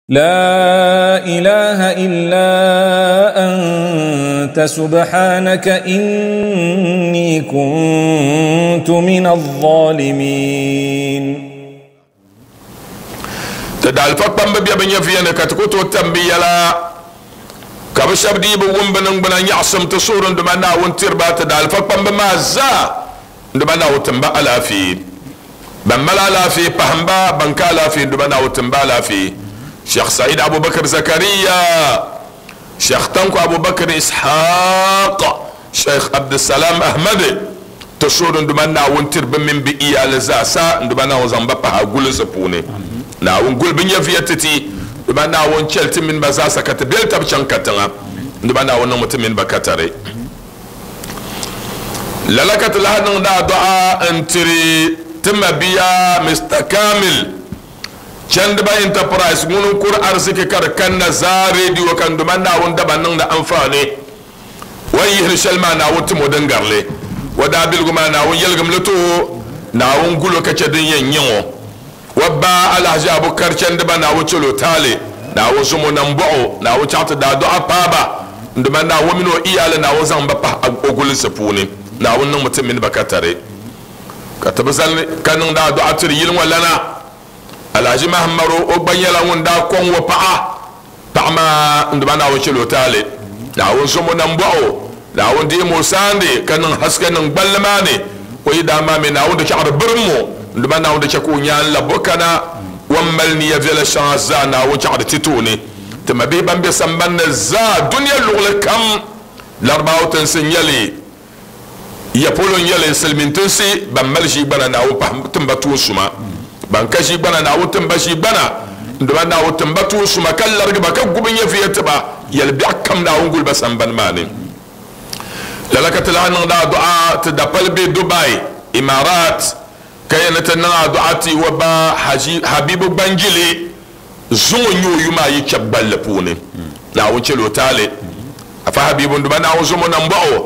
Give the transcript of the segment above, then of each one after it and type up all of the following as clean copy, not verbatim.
لا إله إلا أنت سبحانك إني كنت من الظالمين. Tɩ daalifa kpamba bɛ bi nyɛviya ni ka tɩ ku tooi tam bi yɛla ka bi shɛba dii bi wum bi niŋgbuna nyaɣasim tɩ suhuri n duma Naawuni tiriba. Tɩ daalifa kpamba maa zaa n duma Naawuni timba alaafee, ban mali alaafee pahamba, ban ka alaafee n duma Naawuni timba alaafee. Sheikh Said Abubakar Zakariya, Sheikh Tanko Abubakar Ishaq, Sheikh Abdulsalam Ahmad, tɩ suhuri n duma Naawuni tiri bi mini bi iyali zaasa n duma Naawuni zaŋ ba pahi a gulisi puuni. Naawuni guli bi nyɛviya titi, duma Naawuni chɛli ti mini ba zaasa ka ti beli tabi chaŋ katiŋa, duma Naawuni niŋmi ti mini ba katari. Lala ka ti lahi niŋdi adua n tiri ti mabiya Mr Kamil Chandiba Enterprise, ŋuni n kuri ariziki ka di kanna zaa rediyo ka duma Naawuni daba niŋdi anfaani wa yihiri shɛli maa, Naawuni timo din garili wa daabiligu maa, Naawuni yɛligim li to, Naawuni gulo ka chɛ din yɛn nyɛ ŋɔ. Wa ba Alhaji Abubakar Chandiba, Naawuni chɛlo taali, Naawuni zumo nambɔɣu, Naawuni chaɣ ti daa paaba, nduma Naawuni mini o iyali, Naawuni zaŋ ba pahi o gulinsi puuni, Naawuni niŋmi ti mini ba ka tari. Ka ti bi zali ka niŋdi adua tiri yili ŋɔ lana Alhaji Mahamadu, o gba nyɛla ŋun daa kɔŋ o paɣa, paɣa maa nduma Naawuni chɛlo taali, Naawuni zumo nambɔɣu, Naawuni deemi o saandi ka niŋ haske niŋ gballi maa ni o yi daa maa mi, Naawuni di chaɣari birim mo, nduma Naawuni di chɛ ka o nyaan labbo kana wan mali niya viɛla shɛŋa zaa, Naawuni chaɣari ti tooni. Ti mabihi ban be sambanni zaa duniya luɣuli kam, Larabawa tinsi n nyɛli, ya polo n nyɛli, silimiin tinsi, ban mali ʒii gbana, Naawuni pahi timba tuun suma, ban ka ʒii gbana, Naawuni timba ʒii gbana, nduma Naawuni timba tuun suma ka larigi ba ka gubi nyɛviya tiba yɛli biɛɣu kam, Naawuni guli ba sambani maa ni. Lala ka ti lahi niŋdi adua ti dapali be Dubai, Imarat, ka yɛn ni ti niŋ adua ti wa ba Haji Habibu Gbanjili, zuŋɔ nyɛ o yuma ayi kpɛbu gballi puuni, Naawuni chɛl o taali. Afa Habibu, nduma Naawuni zomo nambɔɣu.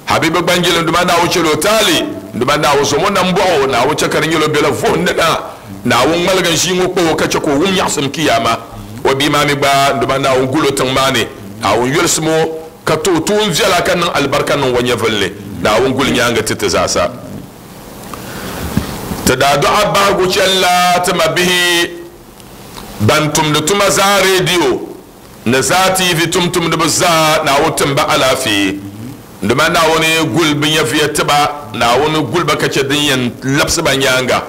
Habibu Gbanjili, nduma Naawuni chɛl o taali, nduma Naawuni zomo nambɔɣu, Naawuni chɛ ka di nyɛl o bela vuhim ni na, Naawuni ŋmaligi n ʒii ŋɔ kpa o ka chɛ ka o wum nyaɣasim kiyama. O bia maa mi gba, nduma Naawuni gulo tiŋ maa ni, Naawuni yolisimo ka to tuun viɛla ka niŋ alibarika niŋ o nyɛvulli, Naawuni guli nyaanga ti ti zaasa. Ti daa dɔɣa bahigu chɛlla ti mabihi ban tumdi tuma zaa rediyo ni zaa TV tumtumdiba zaa, Naawuni timba alaafee, nduma Naawuni guli bi nyɛviya tiba, Naawuni guli ba ka chɛ din yɛn labisi ba nyaanga.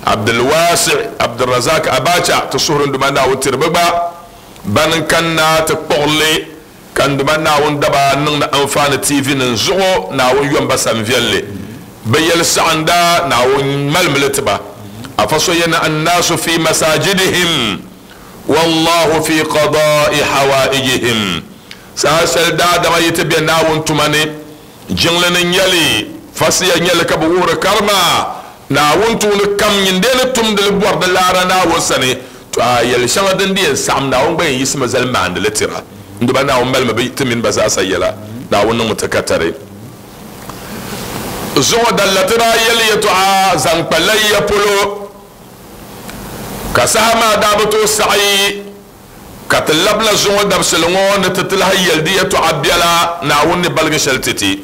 Abdulwasi Abdulrazak Abacha, ti suhuri nduma Naawuni tiri bi gba ban n kanna ti kpuɣili ka nduma Naawuni daba niŋdi anfaani TV nim zuɣu, Naawuni yɔn ba san viɛlli bi yɛli saɣinda, Naawuni malimli tiba. Afa so yɛni annaasu fi masajidihim wallahu fi qada'i hawaijihim. Saha shɛli daadama yi ti bɛ Naawuni tuma ni jiŋli ni nyɛli fasiya nyɛli ka bi wuhiri karima, Naawuni tuuni kam nyindee ni tumdili bɔri di laara Naawuni sani, to a yɛli shɛŋa din di yɛn saɣam, Naawuni gba yɛn yiɣisimi zali maandili tira, nduba Naawuni malimi bi ti mini ba zaasa yɛla, Naawuni niŋmi ti ka tari. Zuŋɔ dalla ti daa yɛli yɛtɔɣa zaŋ kpa layya polo, ka saha maa daa bi tooi saɣi ka ti labila zuŋɔ dabisili ŋɔ ni ti ti lahi yɛli di yɛtɔɣa biɛla, Naawuni ni baligi shɛli titi.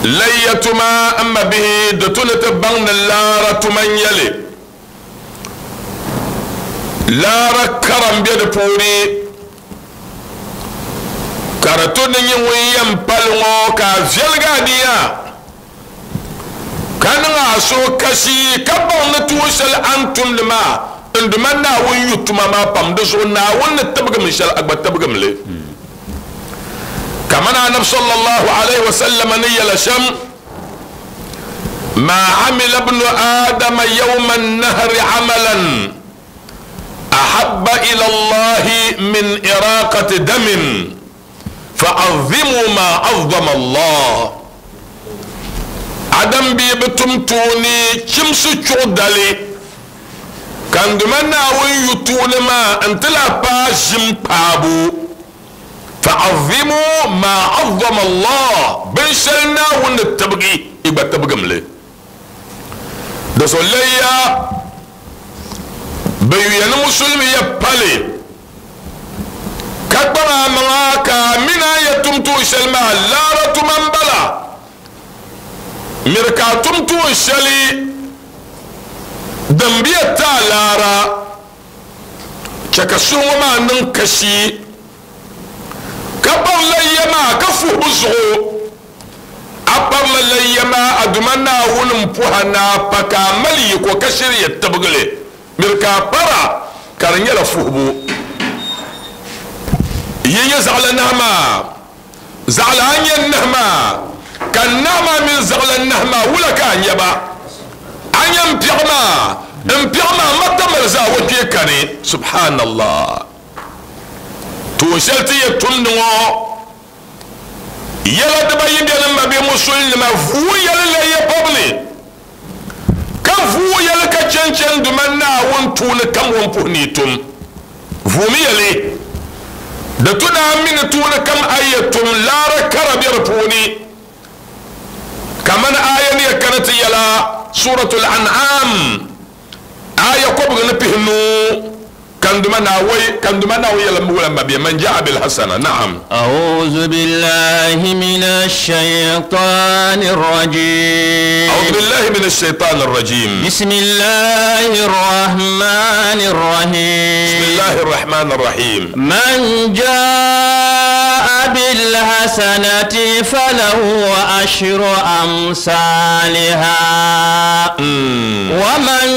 Layya tuma, n ma bihi, di tu ni ti baŋ ni laara tuma n nyɛli, laara kara n bɛ di puuni, ka di tu ni nyɛ ŋun yɛn pali ŋɔ ka a viɛligi a niya ka niŋ a suhu kasi ka baŋ ni tuun shɛli a ni tumdi maa, n duma Naawuni yu tuma maa pam, di zuɣu Naawuni ni tibigimi shɛli a gba tibigimi li, kamani Anabi sallallahu alaihi wasallam ni yɛla shɛm: ما عمل ابن آدم يوم النهر عملا أحب إلى الله من إراقة دم، فعظموا ما عظم الله. Adam bi bi tum tuuni chimsi chuɣu dali kan duma Naawuni yu tuuni maa n ti lahi paai ʒim paabu. Fa'azimu ma azzama Allah, binshɛli Naawuni ni tibigi, i gba tibigim li. Di so layya Bɛ yuya ni musulimi ya pali ka kpaŋ a maŋa ka a mini a ya tum tuun shɛli maa laara tuma m-bala. Miri ka a tum tuun shɛli din bi yɛn ti a laara. Chɛ ka suhu ŋɔ maa niŋ kashi ka bari layya maa ka fuhibu zuɣu. A barila layya maa a Duuma Naawuni m-puhi a ni a pa ka a mali yiko ka shiri yɛ tibigi li. Miri ka a para ka di nyɛla fuhibu. Yi nyɛ zaɣila nahi maa, zaɣila a nyɛ nahi maa, ka nahi maa mini zaɣila nahi maa wula ka a nya ba? A nya m piɛɣu maa, m piɛɣu maa matamali zaa o kpee kani. Subhanallah! Tuun shɛli ti yɛ tumdi ŋɔ yɛla dibayi beni m mabia musulinima vuui yɛli la ya bɔbili ka vuui yɛli ka chɛnchɛn duma Naawuni tuuni kam o ni puhi ni yi tum. Vuumi yɛli, Di tu ni a mi ni tuuni kam a yi yɛ tum laara kara be di puuni. Kamani aaya ni yɛ kana ti yɛla Suratul An'am aaya kɔbiga ni pihinu kanduma naawai kanduma naawai yɛla wula mabia man ja'a bil hasana na'am. أعوذ بالله من الشيطان الرجيم. أعوذ بالله من الشيطان الرجيم. بسم الله الرحمن الرحيم. بسم الله الرحمن الرحيم. من جاء بالحسنة فله عشر أمثالها ومن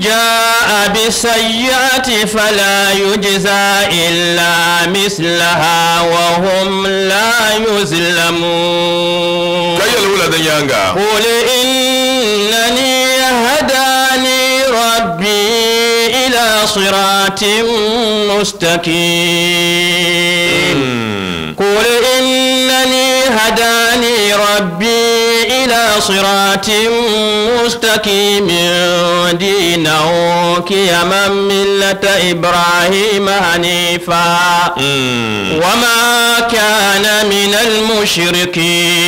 جاء بالسيئة فلا يجزى إلا مثلها وهم لا يظلمون. كي الولد يانغا. قل إنني هداني ربي إلى صراط مستقيم. قل إنني هداني ربي إلى صراط مستقيم دينا قيما ملة إبراهيم حنيفا وما كان من المشركين.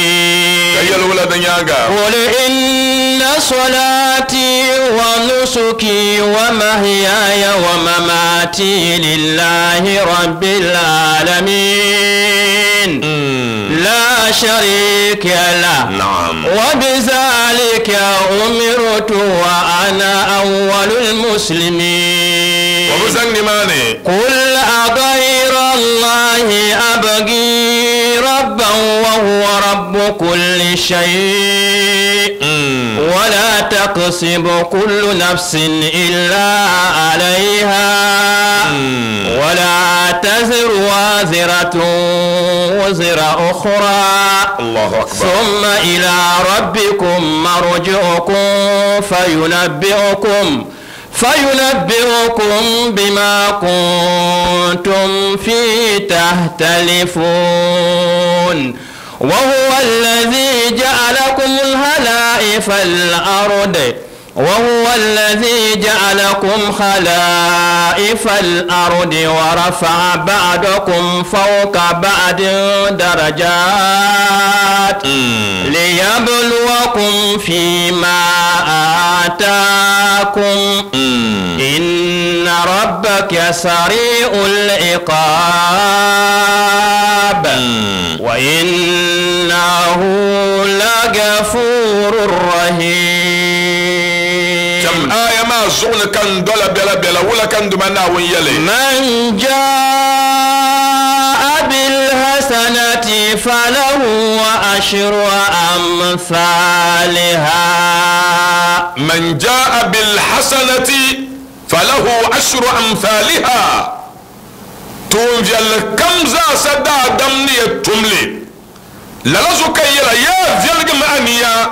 قل إن صلاتي ونسكي ومحياي ومماتي لله رب العالمين لا شريك له. نعم. وبذلك أمرت وأنا أول المسلمين. قل أغير الله أبغي ربا وهو رب كل شيء ولا تكسب كل نفس إلا عليها ولا تزر وازرة وزر أخرى. الله أكبر. ثم إلى ربكم مرجعكم فينبئكم بما كنتم فيه تختلفون. وهو الذي جعلكم خلائف الأرض وهو الذي جعلكم خلائف الأرض ورفع بعضكم فوق بعض درجات ليبلوكم فيما آتاكم إن ربك سريع العقاب وإنه لغفور رحيم. كم آية ما زغل كان دولا بلا بلا ولا كان دمنا ويلي. من جاء بالحسنة فله عشر أمثالها. من جاء بالحسنة فله عشر أمثالها. تونجل كم زا سدا دمني تملي لالازو كيلا يا فيلغ مانيا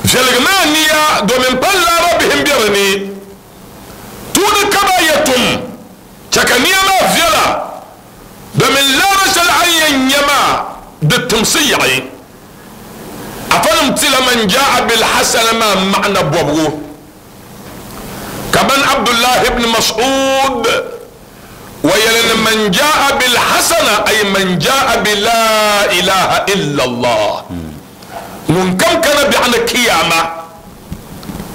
فيلغ مانيا دومين بلا ربهم بيرني تون كبا يتم شكنيا ما فيلا دومين لا رشل عين يما دتمسيعي أفلم تلا من جاء بالحسنة ما معنى بوبغو كمان عبد الله بن مسعود ويلن من جاء بالحسنة أي من جاء بلا إله إلا الله من كم كان بيعنا كيامة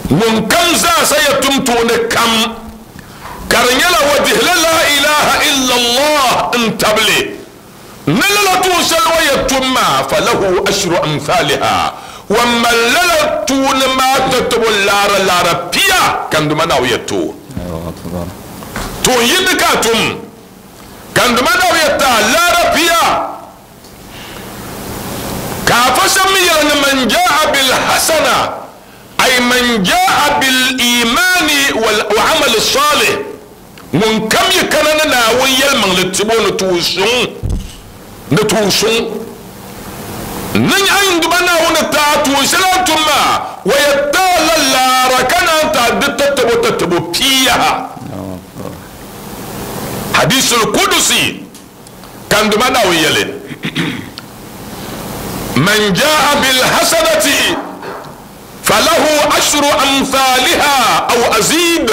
Ŋun kam zaasa ya tum tuuni kam ka di nyɛla o dihila laa ilaha illallah n tabili ni lala tuun shɛli o yɛn tum maa, falahu ashru amthaliha, o mali lala tuuni maa tatabo laara laara pia ka n Duuma Naawuni yɛn ti o. Tuun yindi ka a tum ka n Duuma Naawuni yɛn ti a laara pia. Ka afa shɛba mi yɛli ni man jaa bil hasana ay man jaa bil imaani wal amal salih, ŋun kam yi kana ni Naawuni yɛlimaŋli tibo ni tuun suŋ, ni tuun suŋ ni nyaɣi n Duuma Naawuni ti a tuun shɛli a ni tum maa, o yɛn ti a la laara ka naan ti a di tatabo tatabo pia. Hadisul Kudusi. Ka n Duuma Naawuni yɛli, Man jaa bilhasanati falahu ashru amthaliha aw azid,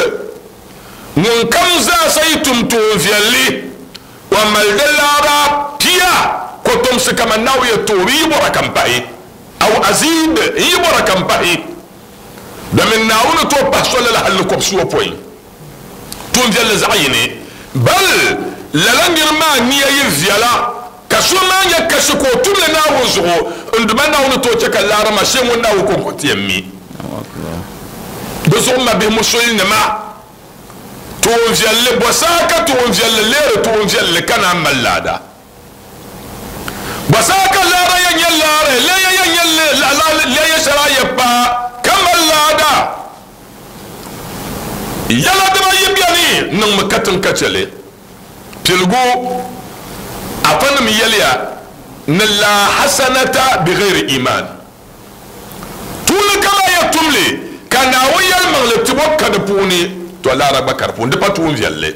ŋun kam zaasa yi tum tuunviɛlli, o mali di laara pia kɔtomsi kaman Naawuni yɛn toori yi bɔra ka m pahi, aw azid, n yi bɔra ka m pahi, domin Naawuni tooi pahi so lala hal ni kɔbisiwopɔin. Tuunviɛlli zaɣ yini. Bal lala nir maa nia yi viɛla, ka so maa nya kasi ka o tum li Naawuni zuɣu, n Duuma Naawuni tooi chɛ ka laara maa shee ŋun Naawuni kɔŋko ti yɛn mi. Di zuɣu m mabihi musulinima, tuunviɛlli bɔ saha ka tuunviɛlli leeri tuunviɛlli ka naan mali laada. Bɔ saha ka laara yɛn nyɛ laara, leeya yɛn nyɛ leeya shɛli a yɛn paai ka mali laada. Yɛla dibayi beni niŋmi katiŋ ka chɛ li. Piligu, afanim yɛliya ni laa hasanata bighairi imaan. Tuuli kam a yɛn tum li ka Naawuni yɛlimaŋli tibɔ ka di puuni, tɔ laara gba ka di puuni, di pa tuun viɛlli.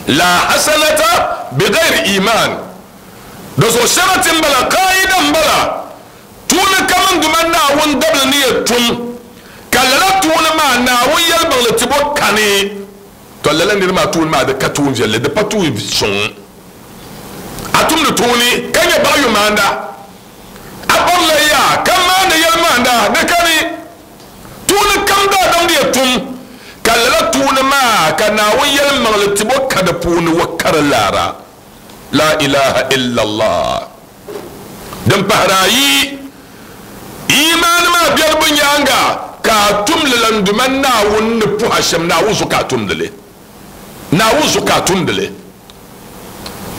Laa hasanata bighairi imaan. Di zuɣu sharati m-bala, kaida m-bala. Tuuni kam n Duuma Naawuni dabili ni yɛn tum, ka lala tuuni maa Naawuni yɛlimaŋli tibo kani, tɔ lala niri maa tuuni maa di ka tuun viɛlli, di pa tuun suŋ. A tumdi tuuni ka nyɛ baɣiyumaanda, a kparila yaa ka maandi yɛlimaanda, di kani. Tuuni kam daadam ni yɛn tum, ka lala tuuni maa ka Naawuni yɛlimaŋli tibo ka di puuni wa kari laara. La ilaha illallah. Din pahiri ayi, imaani maa bɛribu nyaaŋa ka a tumdi la n Duuma Naawuni ni puhi a shɛm, Naawuni zuɣu ka a tumdi li. Naawuni zuɣu ka a tumdi li.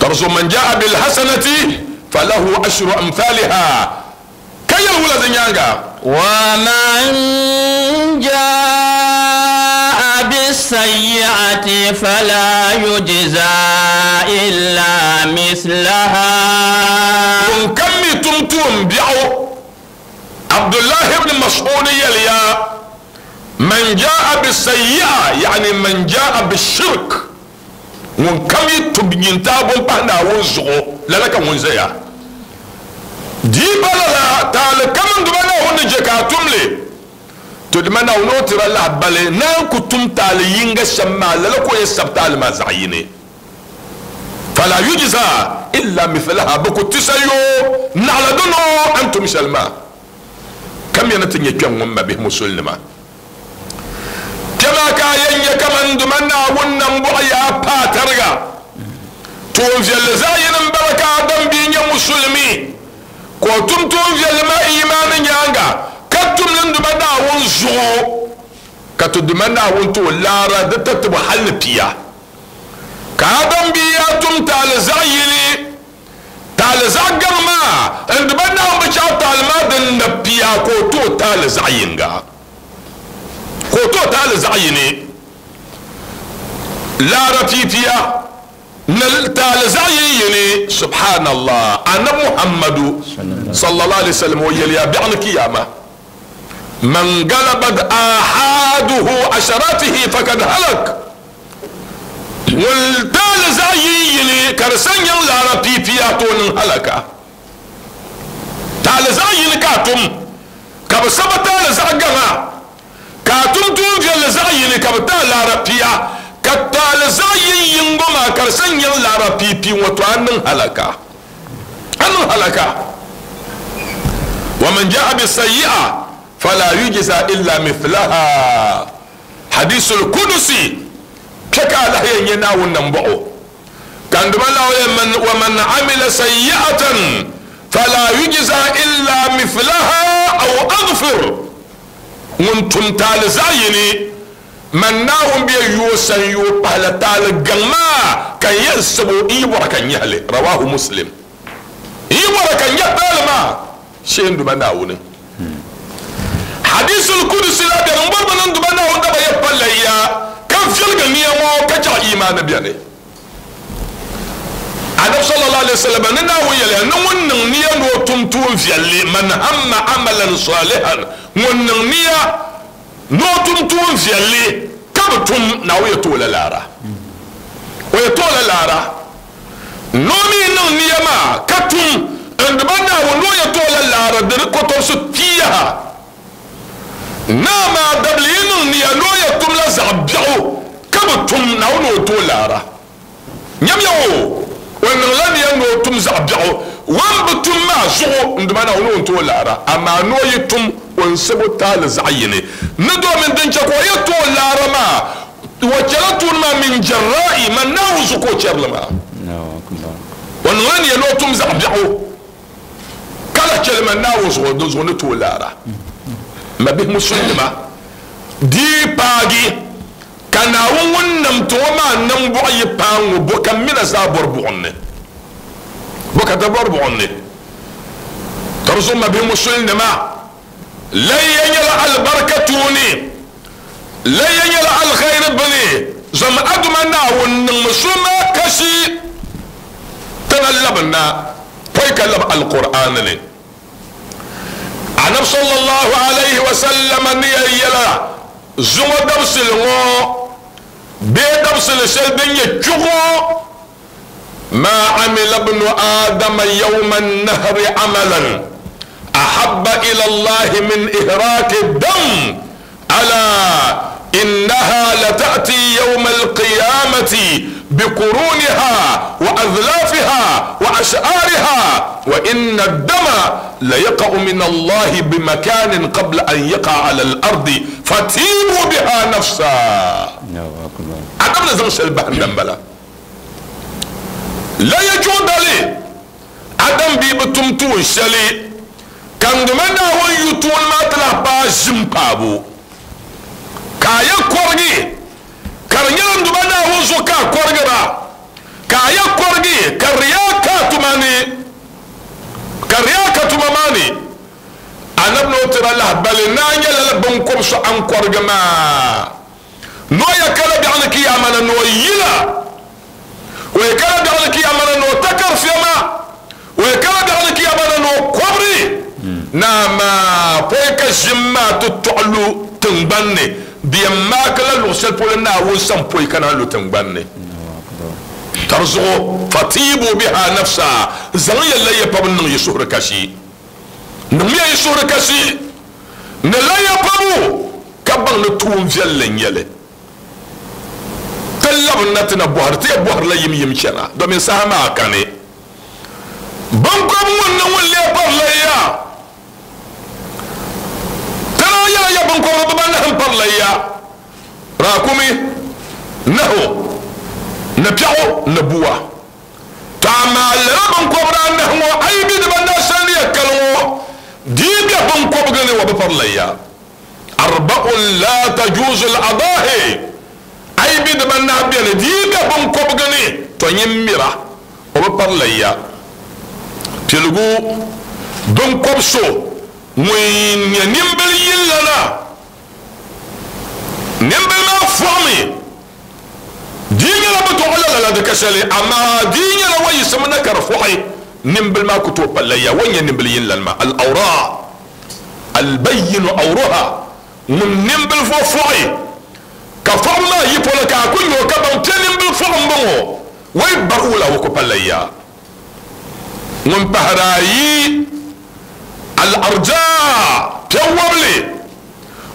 Ka di zuɣu man jaa bilhasanati falahu ashru amthaliha. Ka yɛli wula di nyaaŋa? Wa man jaa bisayyi'ati fala yujza illa mislaha. Ŋun kam mi tum tuun biɛɣu, Abdullahi ibn Mas'ud yɛliya, Man jaa bisayyi'a yani man jaa bishirk, ŋun kam yi tum nyintaabo m-pahi Naawuni zuɣu, lala ka ŋun ʒeya. Di yi pa lala, taali kam n-duma Naawuni ni je ka a tum li. To dima Naawuni o tira lahibali ni a ni ku tum taali yiŋga shɛm maa, lala ka o yɛn sabi taali maa zaɣ yini. Fala yujza illa mithlaha, bɛ ku ti sayoo naɣila di noo a ni tum shɛli maa. Kamiya ni ti nyɛ kpɛŋ ŋun mabihi musulinima. Kpɛma ka a yɛn nyɛ kaman duma Naawuni nambɔɣu yaa paai tariga. Tuun viɛlli zaɣ yini m-bala ka Adam bia nyɛ musulimi, ka o tum tuun viɛlli maa iimaani nyaaŋa, ka tum li n-duma Naawuni zuɣu, ka ti duma Naawuni ti o laara di tatibu hal ni pia. Ka Adam bia yaa tum taali zaɣ yini, taali zaɣ gaŋ maa, n-duma Naawuni bi chaɣ taali maa din na pia, ka o ti o taali zaɣ yiŋga. Ka o ti o taali zaɣ yini. Laara piipiya ni taali zaɣ yini yini. Subhanallah, Anabi Muhammadu sallallahu alaihi wasallam o yɛliya biɛɣu ni kiyama, man galabat ahaduhu asharatihi fakad halak. Ŋun taali zaɣ yini yini ka di sa nyaŋ laara piipiya to o niŋ halaka. Taali zaɣ yini ka a tum ka bi saba taali zaɣ gaŋa, ka a tum tuun viɛlli zaɣ yini ka bi ti a laara pia, ka taali zaɣ yin yiŋgo maa ka di sa nyaŋ laara piipii ŋɔ, to a niŋ halaka. A niŋ halaka. Wa man jaa bisayyi'a fala yujza illa mithlaha. Hadisul kudusi kpɛ ka alahi yɛn nyɛ Naawuni nambɔɣu. Kan duma la wa man amila sayyi'atan fala yujza illa mithlaha aw aghfir. Ŋun tum taali zaɣ yini man Naawuni bɛ yoo san yoo pahila taali gaŋ maa ka yɛn sabo n yi bɔra ka nyɛhili. Rawahu Muslim. N yi bɔra ka nyɛ taali maa shee n duma Naawuni. Hadisul kudusi la bɛni n bɔri bi niŋ duma Naawuni daba yɛ palla ya ka viɛlgi nia ŋɔ ka chaɣ imaani bɛni. Annabi sallallahu alaihi wasallam ni Naawuni yɛliya ni ŋun niŋ nia ni o tum tuun viɛlli man hamma amalan salihan, ŋun niŋ nia ni o tum tuun viɛlli ka bi tum, Naawuni yɛ toola laara. O yɛ toola laara. Ni o mi niŋ nia maa ka tum n duma Naawuni ni o yɛ toola laara di kotobisi pia. Naa maa dabili yi niŋ nia ni o yɛ tum la zaɣ biɛɣu ka bi tum, Naawuni o too laara. Nyamiya o, o niŋla nia ni o tum zaɣ biɛɣu, wan bi tum maa zuɣu n duma Naawuni o too laara. Amaa ni o yi tum o n sabo taali zaɣ yini ni domin din chɛ ka o yɛ too laara maa wa chɛla tuun maa min jarra'i man Naawuni zuɣu ka o chɛrili maa. O niŋla nia ni o tum zaɣ biɛɣu ka la chɛli man Naawuni zuɣu din zuɣu ni too laara. Ma bihi musulima dii paagi ka Naawuni ŋun nam ti ŋɔ maa niŋ buɣu yi paai ŋɔ bo ka mina zaa bɔri buɣum ni, bo ka ti bɔri buɣum ni. Ka di zuɣu ma bihi musulinima layya nyɛla alibarika tuuni, layya nyɛla alkhairi bini zom aduma Naawuni niŋmi so maa kashi tana labina pɔi ka labi alqur'an ni. Annabi sallallahu alaihi wasallam ni ya yɛla zuŋɔ dabisili ŋɔ bee dabisili shɛli din nyɛ chuɣu ma amila ibnu adama yawma nahri amalan ahabba ila Allahi min ihraqi dam ala innaha lata'ti yawma alqiyamati biquruniha wa adlafiha wa ash'ariha wa inna ad-dama la yaqa'u min Allahi bimakanin qabla an yaqa'a ala al-ardi fatibu biha nafsa. Adam la zaŋ shɛli bahi n bala la ya juɣudali Adam bi bi tum tuun shɛli ka n duma Naawuni yu tuun maa ti lahi paai ʒim paabu ka a yɛ kɔrigi ka di nyɛla n duma Naawuni zuɣu ka a kɔrigira ka a yɛ kɔrigi ka riya ka tuma ni ka riya ka tuma maa ni. Annabi ni o tira lahabali naa nyɛla la binkob so an kɔrigi maa n'o yɛ kala biɛɣu ni kiyama na n'o yila o yɛ kala biɛɣu ni kiyama na n'o takari fiɛma o yɛ kala biɛɣu ni kiyama na n'o kɔbiri naa maa pɔi ka ʒim maa ti tɔɣilu tingbani ni di yɛn maaki la luɣu shɛli polo Naawuni san pɔi ka naan lu tingbani ni. Ka di zuɣu fatibu biha nafsa zaŋ ya layya pabu niŋ yi suhuri kashi, niŋmiya yi suhuri kashi ni layya pabu ka baŋ ni tuun viɛlli n nyɛli. Ti labi na ti na bɔhiri ti yɛ bɔhiri la yim yim chana domin saha maa kani binkob ŋun ni ŋun lee pari layya tana yɛla ya binkobiri bibanahi n pari layya raakumi nahu ni piɛɣu ni buwa. To amaa lala binkobiri anahi ŋɔ a yi bi dibanahi shɛli ni yɛ kali ŋɔ dii bɛ binkobigi ni wa bi pari layya. Arba'un la tajuzu al-adahi a yi bi dibanahi bɛni dii bɛ binkobigi ni to nyin mira o bi pari layya. Piligu binkob so ŋun nyɛ nimbili yillana nimbili maa fɔɣimi dii nyɛla bi tɔɣi la lala di ka shɛli amaa dii nyɛla wa yiɣisimi na ka di fɔɣi nimbili maa ku tooi pa layya wa nyɛ nimbili yillana maa al-awra albayinu awruha ŋun nimbili fɔ fɔɣi ka fɔɣi maa yi polo ka a ku nyɛ o ka baŋ piɛ nimbili fɔɣi n bɔŋɔ wai bari wula wo ku pa layya. Ŋun pahari ayi al-arja piɛ wabili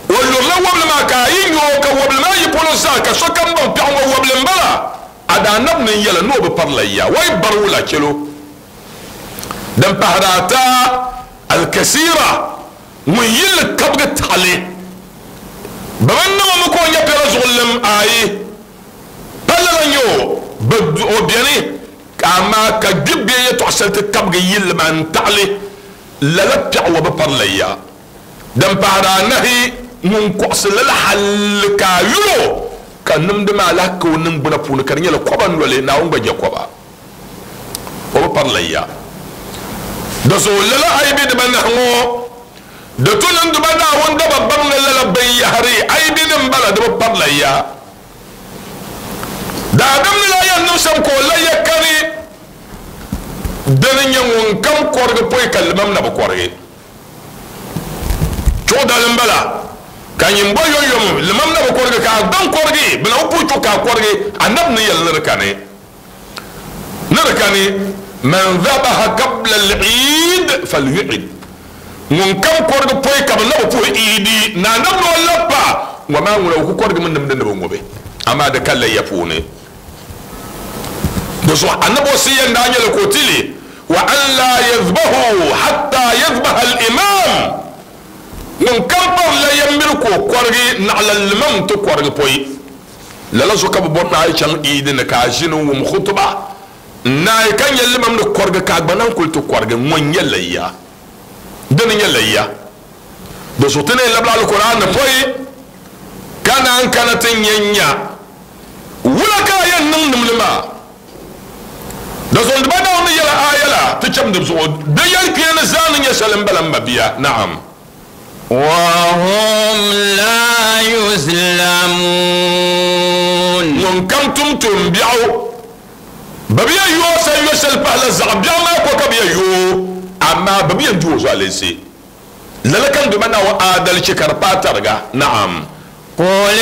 o lurila wabili maa ka a yi nyɛ o ka wabili maa yi polo zaa ka sokam baŋ piɛɣu ŋɔ wabili n bala a daanab ni yɛla n'o bi pari layya wai bari wula chɛlo. Din pahari ata al-kasira Ŋun yilli kabigi taɣali bɛ bi niŋ o mi ka o nya piɛla zuɣulim ayi pa lala n-nyɛ o bɛ o beni amaa ka gbibi bɛ yɛtɔɣ shɛli ti kabigi yilli maa n-taɣili lala piɛɣu ŋɔ bi pari layya. Din pahiri anahi ŋun kɔɣisi lala halli ka a yul o ka nimdi maa lahi ka o niŋgbuna puuni ka di nyɛla kɔba noli, Naawuni gba je kɔba. O bi pari layya. Di zuɣu lala a yi be dibanahi ŋɔ, di tu ni n duba Naawuni daba baŋ ni lala binyahari a yi be ni m-bala di bi pari layya. Daadam ni lahi yɛn niŋ shɛm ka o layya kani, dini n-nyɛ ŋun kam kɔrigi pɔi ka limam na bi kɔrigi. Chuɣu dali m-bala, ka nyin bo yomyom limam na bi kɔrigi ka a gbaŋ kɔrigi, bɛ na bi puhi chuɣu ka a kɔrigi, Anabi ni yɛli ni di kani. Ni di kani, Man dhabaha qabla al-Eid falyu'id. Ŋun kam kɔrigi pɔi ka bɛ na bi puhi Eidi, ni Anabi ni o labi pa, ŋɔ maa ŋuna o ku kɔrigimi nimdi ni bɛ ŋubi, amaa di ka layya puuni. Di zuɣu Anabi wasiya n-daa nyɛli ka o ti li, Wa an laa yadhbahu hatta yadhbaha al-imam. Ŋun kam pari layya miri ka o kɔrigi naɣila limam nti kɔrigi pɔi. Lala zuɣu ka bɛ bɔri ni a yi chaŋ Eid ni ka a ʒini n-wum khutuba n-naai ka nya limam ni kɔrigi ka a gba naan kuli ti kɔrigi, ŋɔ n-nyɛ layya. Dini n-nyɛ layya. Di zuɣu ti ni yɛn labila Alkur'aan ni pɔi ka naan kana ti nya nya wula ka a yɛn niŋ nimli maa. Di zuɣu n-di ba Naawuni ni yɛli aaya la ti cham di zuɣu. Di yɛlikpeeni zaa ni nyɛ shɛli m-bala m mabia. Naam. Wahum laa yuzlamuun. Ŋun kam tum tuumbiɛɣu, bɛ bi yɛn yooi sa yo shɛli pahila zaɣ biɛɣu maa ko ka bɛ yɛn yooi, amaa bɛ bi yɛn di o zualinsi. Lala ka n Duuma Naawuni aadalichi ka di paai tariga. Naam. Qul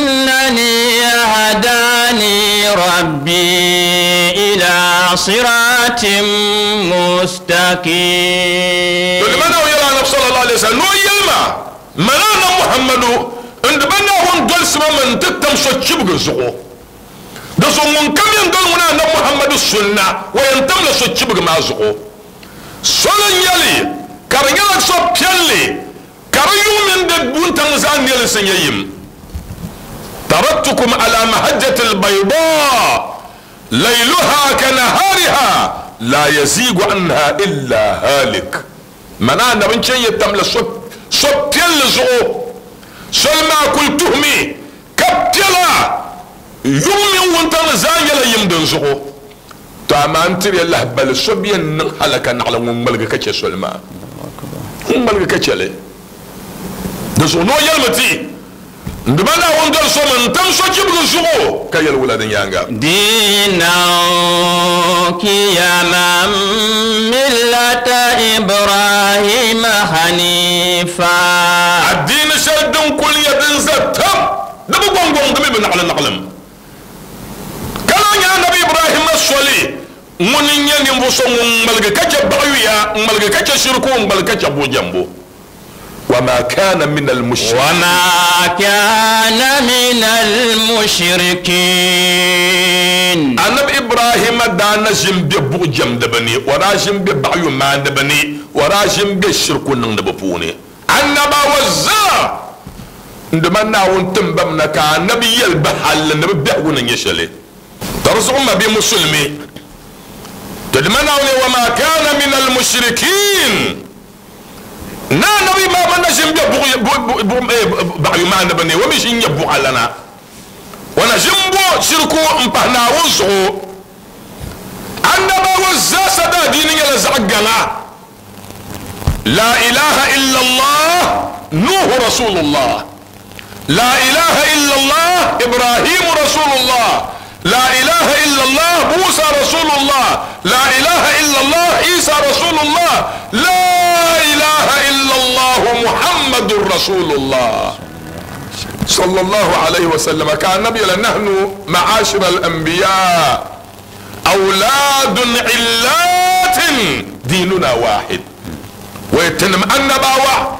innani hadani rabbi ila siratin mustaqim. To Duuma Naawuni yɛli Anabi sallallahu alaihi wasallam ni o yɛli ma, Mani Anabi Muhammadu n Duuma Naawuni dolisi ma mi n-ti tam sochibigi zuɣu. Di zuɣu ŋun kam yɛn doli ŋuna Anabi Muhammadu sunna, o yɛn tamla sochibigi maa zuɣu. Soli n-nyɛ li, ka di nyɛla so piɛlli, ka di yuŋ mini di wuntaŋ zaa neelinsi nyɛ yim. Taraktukum ala mahajjati al-baydaa, layluha ka nahariha, la yazigu anha illa halik. Mani Anabi n-chɛ n-yɛ tamla so piɛlli zuɣu. Soli maa kul tuhimi ka piɛla, yuŋ mini wuntaŋ ni zaa nyɛla yim din zuɣu. To amaa n tiri ya lahibali, so bi yɛn niŋ halaka naɣila ŋun ŋmaligi ka chɛ soli maa. Ŋun ŋmaligi ka chɛ li. Di zuɣu ni o yɛlimi ti, N Duuma Naawuni doli so mi n-tam sochibigi zuɣu ka yɛli wula di nyaaŋa? Diinan qiyaman millata Ibrahima hanifa. Adiini shɛli din kuli nyɛ din za tam, di bi gɔŋgɔŋ, di mi bi naɣilim naɣilim. Ka lahi nyɛ Anabi Ibrahima soli, ŋuni n-nyɛ ninvuɣ so ŋun ŋmaligi ka chɛ baɣiyuya, n-ŋmaligi ka chɛ shiriku, n-ŋmaligi ka chɛ buɣijɛmbo. Wama kana min al-mushrikin. Wama kana min al-mushrikin. Anabi Ibrahima daa na ʒi m-be buɣijɛmdiba ni, o daa ʒi m-be baɣiyumaandiba ni, o daa ʒi m-be shiriku niŋdiba puuni. Annabawa zaa n-di ma Naawuni tim ba mi na ka anabi yɛli ba halli ni bɛ biɛhigu ni nyɛ shɛli. Ka di zuɣu m mabia Musulimi, ti di ma Naawuni wa maa kaana min al-mushrikiin, ni anabi maa gba na ʒi m-be baɣiyumaaniba ni, o mi ʒi n-nyɛ buɣalana, o na ʒi m-bo shiriku m-pahi Naawuni zuɣu. Annabawa zaa sa daadiini nyɛla zaɣ gaŋa. La ilaha illallah Nuhu Rasulullah La ilaha illallah Ibrahim Rasulullah La ilaha illallah Musa Rasulullah La ilaha illallah Isa Rasulullah La ilaha illallah Muhammadur Rasulullah Sallallahu alayhi wa sallam ka annabi yɛla nahnu ma'ashir al-anbiya awlaadun illaatin diinuna waahid wai tinim annabawa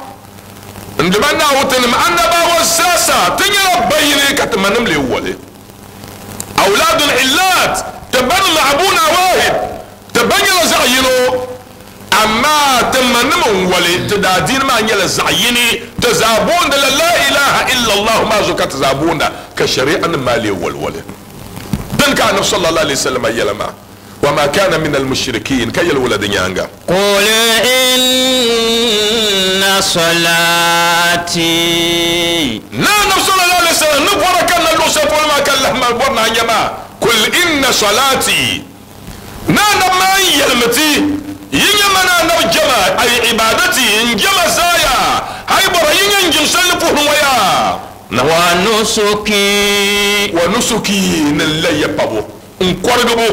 n dima Naawuni tinim annabawa zaasa ti nyɛla bayini ka ti manim lee wali awlaadun illaat ti ba ni ma'abuna waahid ti ba nyɛla zaɣ yino Amma ti manim n wali ti daa diini maa nyɛla zaɣ yini ti zaa boonda la la ilaha illallah maa zuɣu ka ti zaa boonda ka shari'a nim maa lee waliwali din ka anabi sallallahu alaihi wasallam yɛla maa wa ma kana min almushrikin ka yɛli wula di nyaanga قل إن صلاتي na anabi sallallahu alaihi wasallam ni bɔra ka na luɣu shɛli polo maa ka lahi ma bɔri na nyɛ maa kul inna salati na anabi maa n yɛlimi ti yinya mana anabi jama ay ibadati n jama zaya hay bɔra yinya n jimsali puhun waya na ونسكي wa nusuki ni layya pabo n kɔrigibu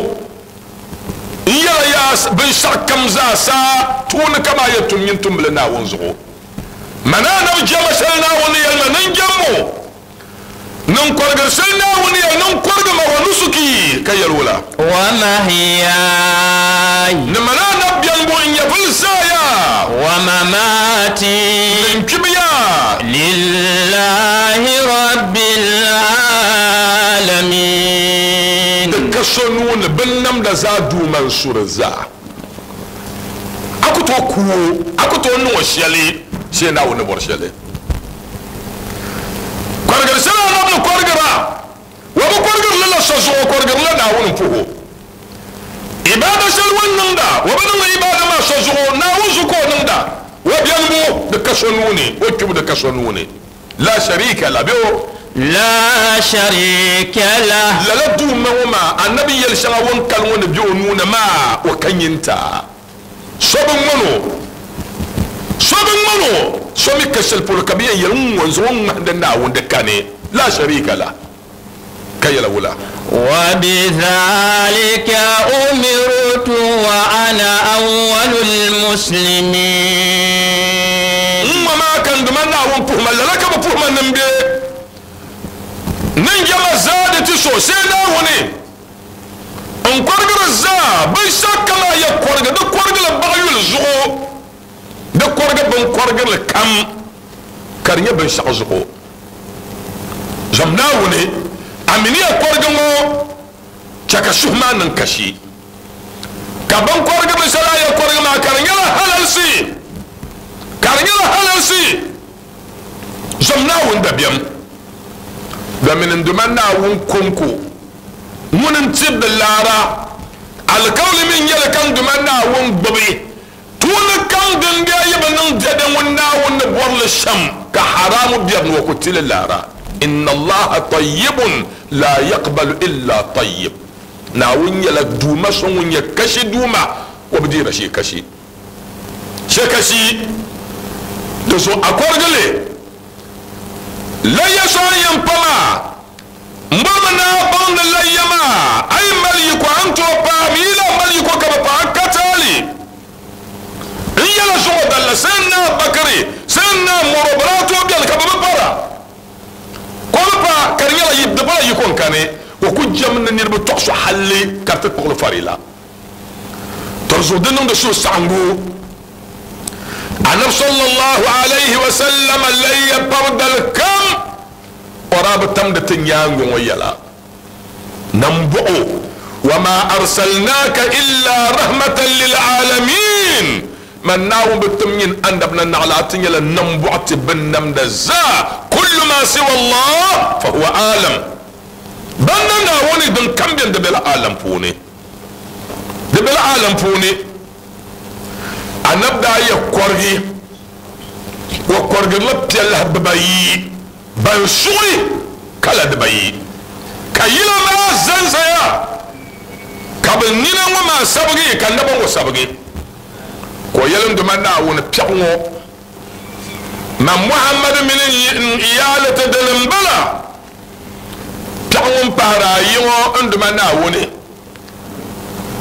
n yɛla yaa binshɛɣu kam zaa saa tuuni kama yɛ tum nyin tumbili naawuni zuɣu mana anabi jama shɛli naawuni yɛlima nin jɛmmo nin kɔrigiri shɛli naawuni yɛli nin kɔrigima wa nusuki ka yɛli wula ومحياي ni mana anabi biɛligu n nyɛvili zaaya ومماتي nin kpibiya لله رب العالمين di ka so nuu ni bin namda zaa duuma n suri zaa a ku tooi kuo a ku tooi niŋ o shɛli shee naawuni ni bɔri shɛli kɔrigiri shɛli anabi ni kɔrigira wa bi kɔrigiri li la so zuɣu kɔrigiri la naawuni puho ibada shɛli ŋun niŋda wa bi niŋdi ibada maa so zuɣu naawuni zuɣu ka o niŋda wa biɛligu di ka so nuu ni o kpibu di ka so nuu ni la sharika la bɛ o لا شريك له lala duuma ŋɔ maa anabi yɛli shɛŋa ŋun kali ŋɔ ni bɛ o nuu ni maa o ka nyinta so bi ŋmani o so bi ŋmani o so mi ka shɛli polo ka bi yɛn yɛli ŋ ŋɔ zuɣu ŋmahindi naawuni di kani la sharika la ka yɛla wula وبذلك أمرت وأنا أول المسلمين n ŋɔ maa kan duma naawuni puhuma lala ka bi puhuma nin bɛ nin jama zaa di ti so see naawuni n kɔrigiri zaa binshɛɣu kama yɛ kɔrigi di kɔrigila baɣa yuli zuɣu di kɔrigi bin kɔrigirili kam ka di nyɛ binshɛɣu zuɣu zam naawuni a mini ya kɔrigi ŋɔ chɛ ka suhu maa niŋ kashi ka bin kɔrigirili shɛli a yɛ kɔrigi maa ka di nyɛla halalsi ka di nyɛla halalsi zam naawuni dabiɛm domin n duma naawuni konko ŋuni n tibdi laara alikawli min nyɛli kan duma naawuni gbubi tuuni kam din bɛ yi bi niŋ dɛdɛ ŋun naawuni ni bɔrili shɛm ka haramu biɛri ni o ku tili laara inna allaha tayyibun la yaqbalu illa tayyib naawuni nyɛla duuma so ŋun nyɛ kashi duuma o bi deera shee kashi shee kashi di so a kɔrigili layya so n yɛn pa maa n bɔrimi naa baŋ ni layya maa a yi mali yiko a ni tooi paai mi yi lahi mali yiko ka bi paai ka taali n yɛla zuɣu dalla sai naa bakari sai naa mɔro bi daa tooi biɛni ka bi bi para ko bi pa ka di nyɛla di pala yiko n kani o ku jɛm ni niriba tɔɣiso halli ka di ti kpuɣili farila to zuɣu di niŋdi suhusaɣingu anabi sallallahu alayhi wa sallam layya pabdal kam o daa bi tamdi ti nyaangi ŋɔ yɛla nambɔɣu wa ma arsalnaka illa rahmatan lil alamin man naawuni bi tim nyin annabi na naɣila a ti nyɛla nambɔɣu ti bin namda zaa kullu ma siwa allah fa huwa alam ban na naawuni din kam bɛni di bela alam puuni di bela alam puuni annabi daa yɛ kɔrigi o kɔrigirila piɛlahi bibayi ban suɣi kala dibayi ka yila maa zanzaya ka bi nina ŋɔ maa sabigi ka naba ŋɔ sabigi ka o yɛli n duma naawuni piɛɣu ŋɔ man muhammadu mini n iyaali ti dini n bala piɛɣu ŋun pahari ayi ŋɔ n duma naawuni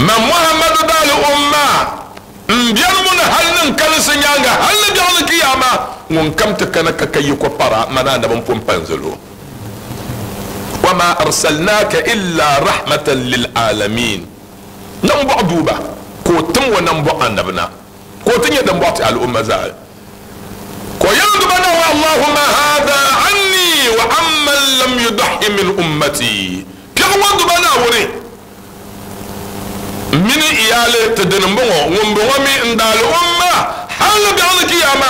man muhammadu daali umma n biɛlimu ni hali ni n kalinsi nyaanga hali ni biɛɣu ni kiyama ŋun kam ti kana ka ka yiko para mana anabi n pun panzilo wa ma arsalnaka illa rahmatan lil alamin nambɔɣu duuba ka o tim wa nambɔɣu anabi na ka o ti nyɛ din bɔɣu ti al'umma zaa ka o yɛli duba na wa allahumma hada anni wa amman lam yudahi min ummati piɛɣu ŋɔ duba naawuni mini iyaali N-daali ti dini m-bɔŋɔ, ŋumbɔŋɔ mi n-daali o ma hal biɛɣuni kiyama.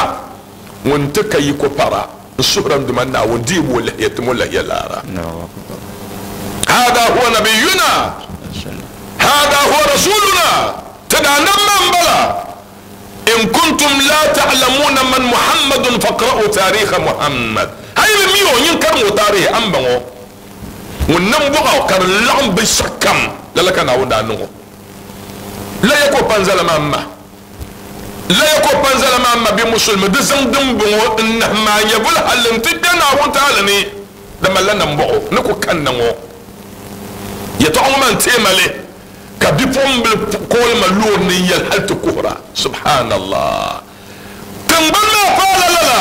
Ŋun ti ka yiko para n-suhira n Duuma Naawuni deebu o lahiya tim o lahiya laara. Hada huwa nabiyuna, hada huwa rasuluna, ti daanab maa m-bala. In kuntum la ta'lamuna man Muhammadun faqra'u tariikha Muhammad. A yi bi mi o, nyin karim o taarihi, a ni baŋ o. Ŋun niŋ buɣa ka di laɣim binshɛɣukam, lala ka Naawuni daa niŋ o. Laya ka o pa n-zala maa m-ma. Laya ka o pa n-zala maa m-ma bɛ Musulimi di zaŋ dimbɔŋɔ n-nahim a nyɛvuli halli nti kpe Naawuni taali ni, di malila nambɔɣu ni ku kanna ŋɔ. Yɛtɔɣa ŋɔ maa n-teei ma li ka bipuɣimbila kooli ma loori ni n-yɛli hali ti kuhira, Subhanallah! Tiŋgbani maa paala lala.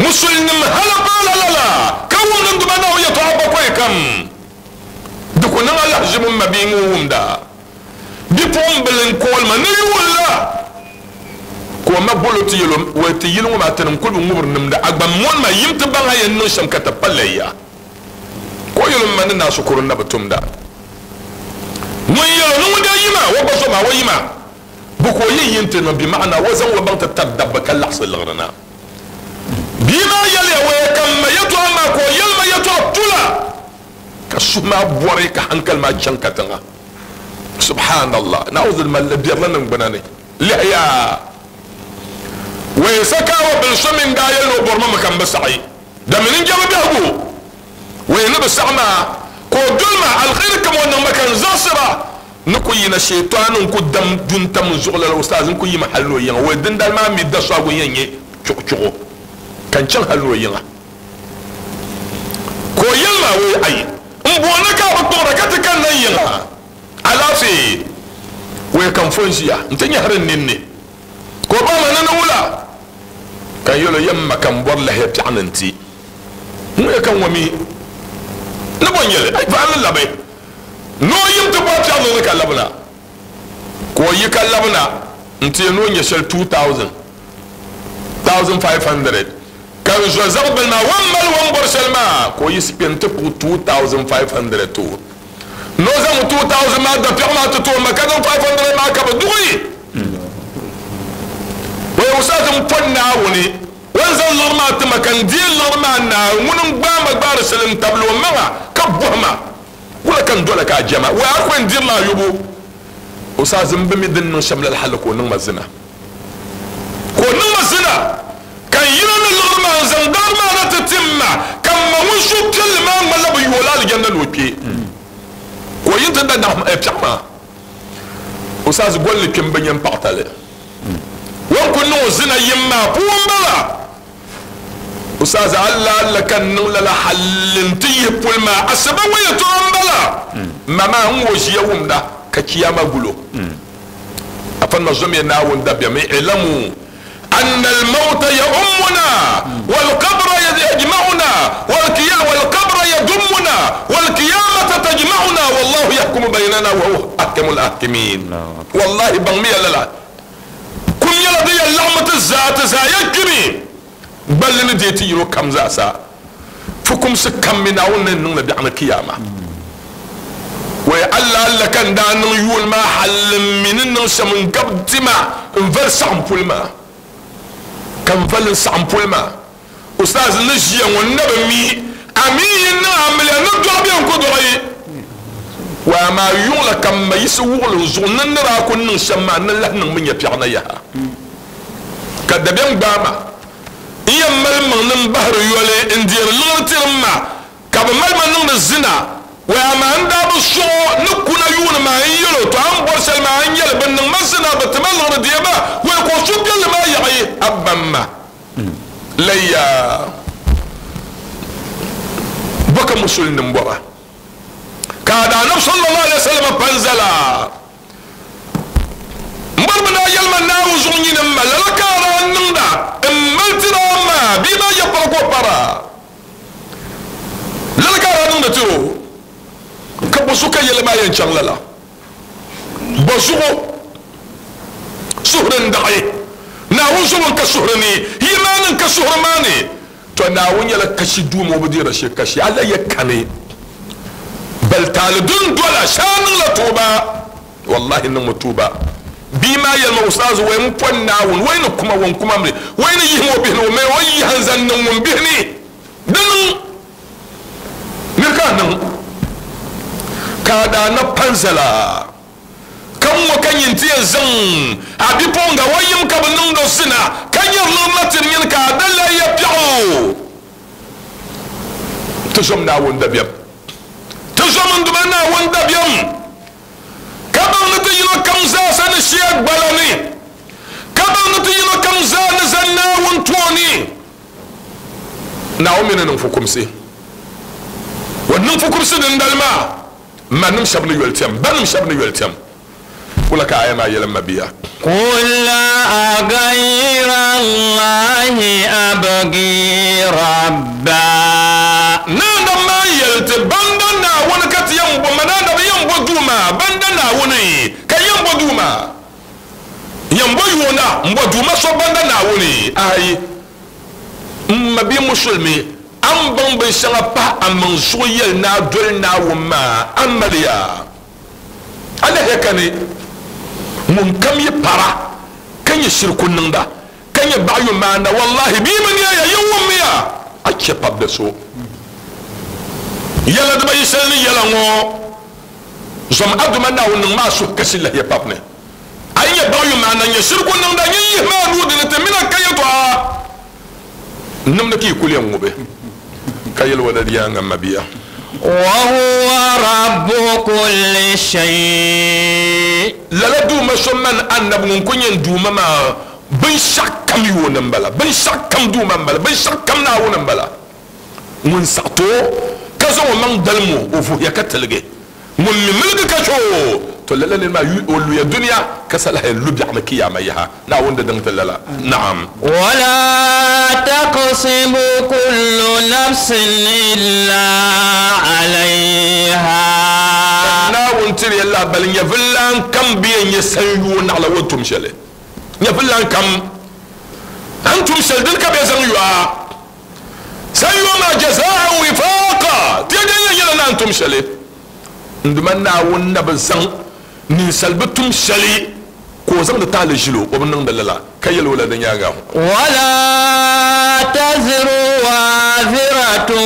Musulinim hali paala lala ka wumdi n Duuma Naawuni yɛtɔɣa bakɔi kam. Di ku niŋ alahizibu m mabia ŋun wumda. Bipuɣimbila n-kooli ma ni yuun la ka o ma bol o ti yɛl o, Wɛi ti yili ŋɔ maa tinim kul bi ŋubiri nimdi, a gba mɔni ma yim ti baŋ a yɛn niŋ shɛm ka ti pa lɛya. Ka o yɛl o, M ma ni naa shikuru n-na bi tumda. Ŋun yɛl o ni ŋun daa yi maa, o gba zo maa, o yi maa bɛ ka o yi yi nti niŋ, bima'ana o zaŋ o baŋ ti tari dabba ka laɣisi liɣiri na. Bia maa yɛliya, Wɛi ka m ma yɛtɔɣa maa ka o yɛli ma yɛtɔɣa tula. Ka suhu maa bɔri ka hankali maa chaŋ katiŋa. Subhanallah. Na'udhu malila biɛrila niŋgbuna ni. Lihiya! Wai sakaawa bil so min daa yɛli ni o bɔri ma mi ka m bi saɣi. Damini n jɛma biɛhigu. Wai ni bi saɣi maa ka o doli ma alkhairi kam o niŋ ma ka n zaɣisira ni ku yina sheetaani n ku dam du n-tam n zuɣu lala ustaaz n ku yimi hali ni o yiŋa. Wai dindali maa mi dasɔhigu n yɛn nyɛ chuɣuchuɣu ka n chaŋ hali ni o yiŋa. Ka o yɛli ma, Wee ai, m booni ka a bi kpuɣira ka ti kanna n yiŋa? Alaafee? Wee ka n fo n-ʒiya nti nyɛhiri n ninni. Ka o baŋ ma ni ni wula? Ka n yɛl o, Yɛm ma ka m bɔri lahiya piɛɣu ni n-ti. Ŋun yɛ ka ŋɔ mi ni bo n-nyɛ li? Ai, vaɣim ni labi ni o yim ti bɔri piɛɣu niŋli ka labina. Ka o yi ka labina nti yɛn ni o nya shɛli 2,000, 1,500. Ka n zo zaɣ bili maa, o ni mali o ni bɔri shɛli maa, ka o yiɣisi kpe nti kpuɣi 2,500 ti o. Ni o zaŋ 2,000 maa dapiɛɣu maa ti ti o ma, ka zaŋ 500 maa ka bɛ duɣi. O yɛn wusa ti m pɔri Naawuni, o ni zaŋ liɣiri maa ti ma, ka n deei liɣiri maa naai, ŋuni n-gbaai ma gbaari shɛli n-tabili o maŋa ka bɔhi ma, Wula ka n dola ka a jɛma? Wɛ a ku yɛn dirila a yobu? O saa zim bi mi din niŋ shɛm lala hali ka o niŋ ma zina. Ka o niŋ ma zina, ka n yina ni liɣiri maa n-zaŋ daɣiri maa na ti ti m ma, ka m ma ŋun suhupiɛlli maa ŋmanila bɛ yooi la alijanna ni o kpe. Ka o yi nti da naɣ piɛɣu maa, o saa zi golli kpi m-bi nya m paɣitali. O ni ku niŋ o zina yim maa puu m-bala. O saa zaa Allah Allah ka n niŋ lala halli n-ti yihi puli maa asiba ŋɔ yɛtɔɣa m-bala. Ma maa n ŋɔ ʒiya wumda ka kiyama gulo. Afa nima zomiya Naawuni dabiɛm, i'lamu anna al-mawta ya'ummuna wal-qabra yajma'una wal-qabra yadummuna wal-qiyamata tajma'una wallahu yahkumu baynana wa huwa ahkamul ahkimin. Wallahi baŋmiya lala. Kum nyɛla din yɛn laɣimmi ti zaa, ti zaa yɛn kpimi gballi ni deei ti yino kam zaasa. Fukumsi kam mi Naawuni ni niŋ li biɛɣuni kiyama. Wai Allah Allah ka n daa niŋ yuuni maa halli m mi ni niŋ shɛm n gabi dima n vali saɣim puli maa. Ka n vali n saɣim puli maa. Ustaz ni ʒiya ŋɔ n na bi mi a mi yi niŋ amiliya ni dɔɣi bee n ku dɔɣi. Wai amaa yuŋ la ka m ma yiɣisi wuɣili n zuɣu ni n ni daa ku niŋ shɛm maa n ni lahi niŋ mi nya piɛɣu na yaha. Ka dabiɛm gbaai ma n yɛn mali m maŋ ni m bahiri yoli n deeri liɣiri tiri m ma Ka bɛ mali ma niŋdi zina. Wai amaa n daa bi sɔɣ o ni kuna yuuni maa n yɛl o, Tɔ a ni bɔri shɛli maa n yɛli, bɛ niŋ ma zina, bɛ ti ma liɣiri deei ma. Wai ka o suhupiɛlli maa yaɣi a ba m ma. Laya bɔ ka musulinim bɔra? Ka a Daanab sallallahu alaihi wasallam pa n-zala. M bɔri mi ni a yɛli ma Naawuni zuɣu nyini m ma, lala ka a daa niŋda m mali tiri a ma bia maa ya pari ka o para. Lala ka a daa niŋdi ti o, ka bɔzuɣu ka yɛli maa yɛn chaŋ lala? Bɔzuɣu suhuri n-daɣi Naawuni zuɣu n-ka suhuri ni, yi maa ni n-ka suhuri maa ni. Tɔ! Naawuni nyɛla kashi Duuma, o bi deeri shee kashi, a la ya kani. Bali taali din dola, shee a niŋla tuuba. Wallahi niŋmi tuuba. Bia maa yɛli ma, Ustaazu, wai m pɔni Naawuni, wai ni kuma ŋun kuma mi, wai ni yihim o bihi ni o mali o yiha n-zaŋ niŋ ŋun bihi ni. Di niŋ miri ka a niŋ ka a daa na pa n-zala ka ŋ-ŋɔ ka nyin ti yɛn zaŋ a bipuɣiŋga o yim ka bɛ niŋd o zina ka nyari liɣiri na tiri nyin ka a da lahi ya biɛɣu. Ti zom Naawuni dabiɛm. Ti zom n Duuma Naawuni dabiɛm ka baŋ ni ti yino kam zaasa ni shia gbala ni, ka baŋ ni ti yino kam zaa ni zani Naawuni tooni. Naawuni mi ni niŋ fukumsi. O niŋ fukumsi dindali maa, manim shɛba ni yoli tɛm, banim shɛba ni yoli tɛm. Wula ka aya maa yɛli m mabia? Qul aghayra Allahi abghi rabba. Naandab maa yɛli ti, Banda Naawuni ka ti yɛn bo, ma naandab yɛn bo duuma, banda Naawuni ka yɛn bo duuma. Yɛn bo yoona m-bo duuma so banda Naawuni? Aai! M mabia musulimi, a ni baŋ binshɛŋa pahi a maŋ zuɣu yɛli ni a doli Naawuni maa, a maliya. A lahiya kani, ŋunkam yi para ka nyɛ shiriku niŋda, ka nyɛ baɣiyu maanda, wallahi bɛ yi bi neeya, yin wummiya, a chɛ pabdi so. Yɛla dibayi shɛli ni yɛla ŋɔ, zom a Duuma Naawuni niŋ ma a suhu kasi lahiya pab ni. A yi nyɛ baɣiyu maanda n-nyɛ shiriku niŋda, nyin yihimi a nuu di ni ti min a ka yɛtɔɣa nimdi ka yi kul yɛn ŋubi, ka yɛli o di yaaŋa, M mabia. Wahuwa rabbu kulli shay'in. Lala Duuma so mani Annabi ŋun kul nyɛ n Duuma maa binshɛɣukam yooni m-bala, binshɛɣukam Duuma m-bala, binshɛɣukam Naawuni m-bala. Ŋun saɣi ti o ka zaŋ o maŋ dalim o, o vuhiya ka tiligi. Ŋun mi miligi ka chɛ o, to lala nir maa o luya dunia ka salahi lu biɛɣu ni kiyaama yaha. Naawuni di niŋ ti lala. Naam. Wala taksibu kullu nafsin illa alayha. Ka Naawuni tiri ya lahibali, nyɛvililan kam bi yɛn nyɛ sanyoo naɣila o ni tum shɛli. Nyɛvililan kam, a ni tum shɛli dini ka bɛ zaŋ yo a. Sanyoo maa jazaan wifaqa, ti yɛn yɛn nyɛla naan tum shɛli. N Duuma Naawuni na bi zaŋ ninsal bi tum shɛli ka o zaŋdi taali ʒili o, o bi niŋdi lala, ka yɛl o la di nyaaŋa. Wala taziru waaziratun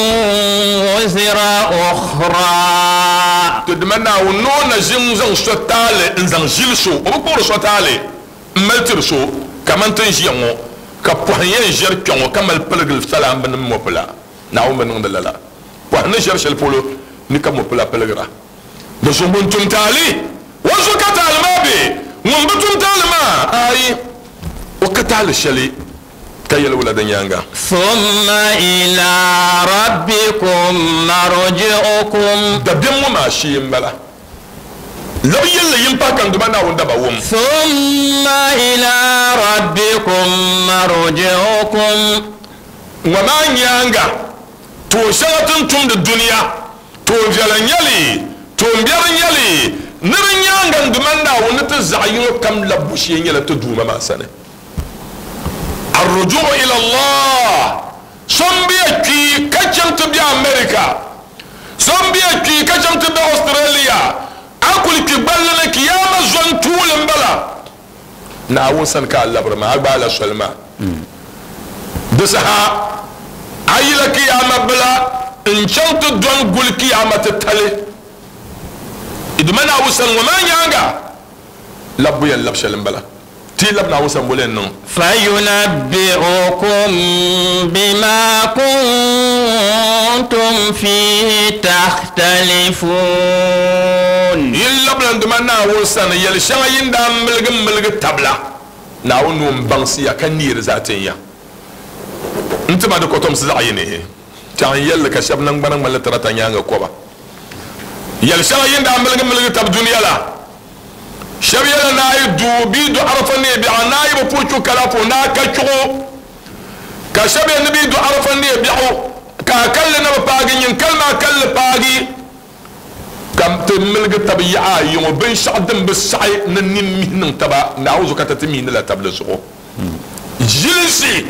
wuzira ukhra. Ti Duuma Naawuni ni o na ʒi n-zaŋ so taali n-zaŋ ʒili so, o bi kpuɣiri so taali. M mali tiri so kaman ti ni ʒiya ŋɔ, ka pɔhim yɛn ʒiɛri kpe ŋɔ ka mali piligili salaamba ni mɔpila. Naawuni bi niŋdi lala. Pɔhim ni ʒiɛri shɛli polo ni ka mɔpila piligira. Di zuɣu ŋun tum taali, o zuɣu ka taali maa be, ŋun bi tum taali maa, aai, o ka taali shɛli ka yɛli wula di nyaaŋa. Summa ila rabbikum marji'ukum. Dabiɛm ŋɔ maa shee m-bala. Labi yɛlli yin pahi ka n Duuma Naawuni daba wum. Summa ila rabbikum marji'ukum. Ŋɔ maa nyaaŋa, tuun shɛŋa ti ni tumdi dunia, tuun viɛla n-nyɛ li, tuun biɛri n-nyɛ li, ni di nyaaŋa n Duuma Naawuni ni ti zaɣ yino kam labbu shee nyɛla ti Duuma maa sani. Ar-ruju'u ila Allah. So m-bia kpi ka chaŋ ti be America. So m-bia kpi ka chaŋ ti be Australia. A kuli kpi gballi ni kiyaama zon tuuli m-bala. Naawuni sani ka a labiri maa, a gbaala soli maa. Di saha a yila kiyaama bila n-chaŋ ti dɔni guli kiyaama titali. Dama Naawuni sani ŋɔ maa nyaaŋa, labbu yɛn lab shɛli m-bala. Ti yi labi Naawuni sani boli yɛn niŋ. Fayunabbi'ukum bima kuntum fihi takhtalifun. Yi labila n Duuma Naawuni sani yɛl shɛŋa yi ni daa miligi miligi tabila Naawuni ni o ni baŋsi ya ka neei di zaa tin ya. N ti ba di kɔtomsi zaɣ yini. Tɛɣu n yɛli li ka shɛba naŋgbana ŋmanila tirata nyaaŋa kɔba. Yɛl shɛŋa yi ni daa miligi miligi tab dunia la. Shɛba yɛla ni a yi du bɛ yi du Arafa neei biɛɣu ni a yi bi puhi chuɣu kala puhi ni a ka chuɣu. Ka shɛba yɛli ni bɛ yi du Arafa neei biɛɣu ka a kalli na bi paagi nyin kali maa kalli paagi. Ka ti miligi tab yaɣa ayi ŋɔ binshɛɣu din bi saɣi ni nini mihi niŋ taba Naawuni zuɣu ka ti ti miini la tabili zuɣu. Ʒilinsi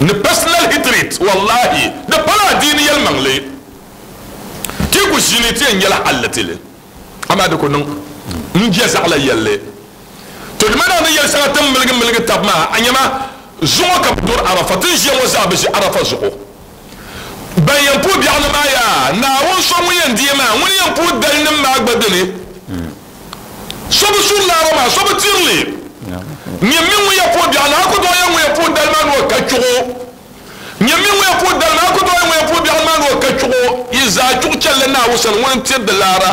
ni personal hatred wallahi di pala adiini yɛlimaŋli. Ti ku ʒini ti yɛn nyɛla halli ti li. Amaa di ku niŋ. N je zaɣila yɛlli. To di mana ni yɛli shɛŋa ti ni miligi miligi tab maa, a nya ma zuŋɔ ka bɛ duri Arafa, ti ni ʒiya ŋɔ zaa bi ʒi Arafa zuɣu. Ban yɛn puhi biɛɣuni maa yaa, Naawuni so ŋun yɛn deei maa, ŋuni yɛn puhi dalinim maa gba dini. So bi suri laara maa, so bi tiri li. Nyɛ mi ŋun yɛn puhi biɛɣuni, a ku tooi yɛn ŋun yɛn puhi dali maa ni o ka chuɣu. Nyɛ mi ŋun yɛn puhi dali maa, a ku tooi yɛn ŋun yɛn puhi biɛɣuni maa ni o ka chuɣu. Yi zaa chuɣu chɛlila Naawuni sani, ŋuni n-tiri di laara.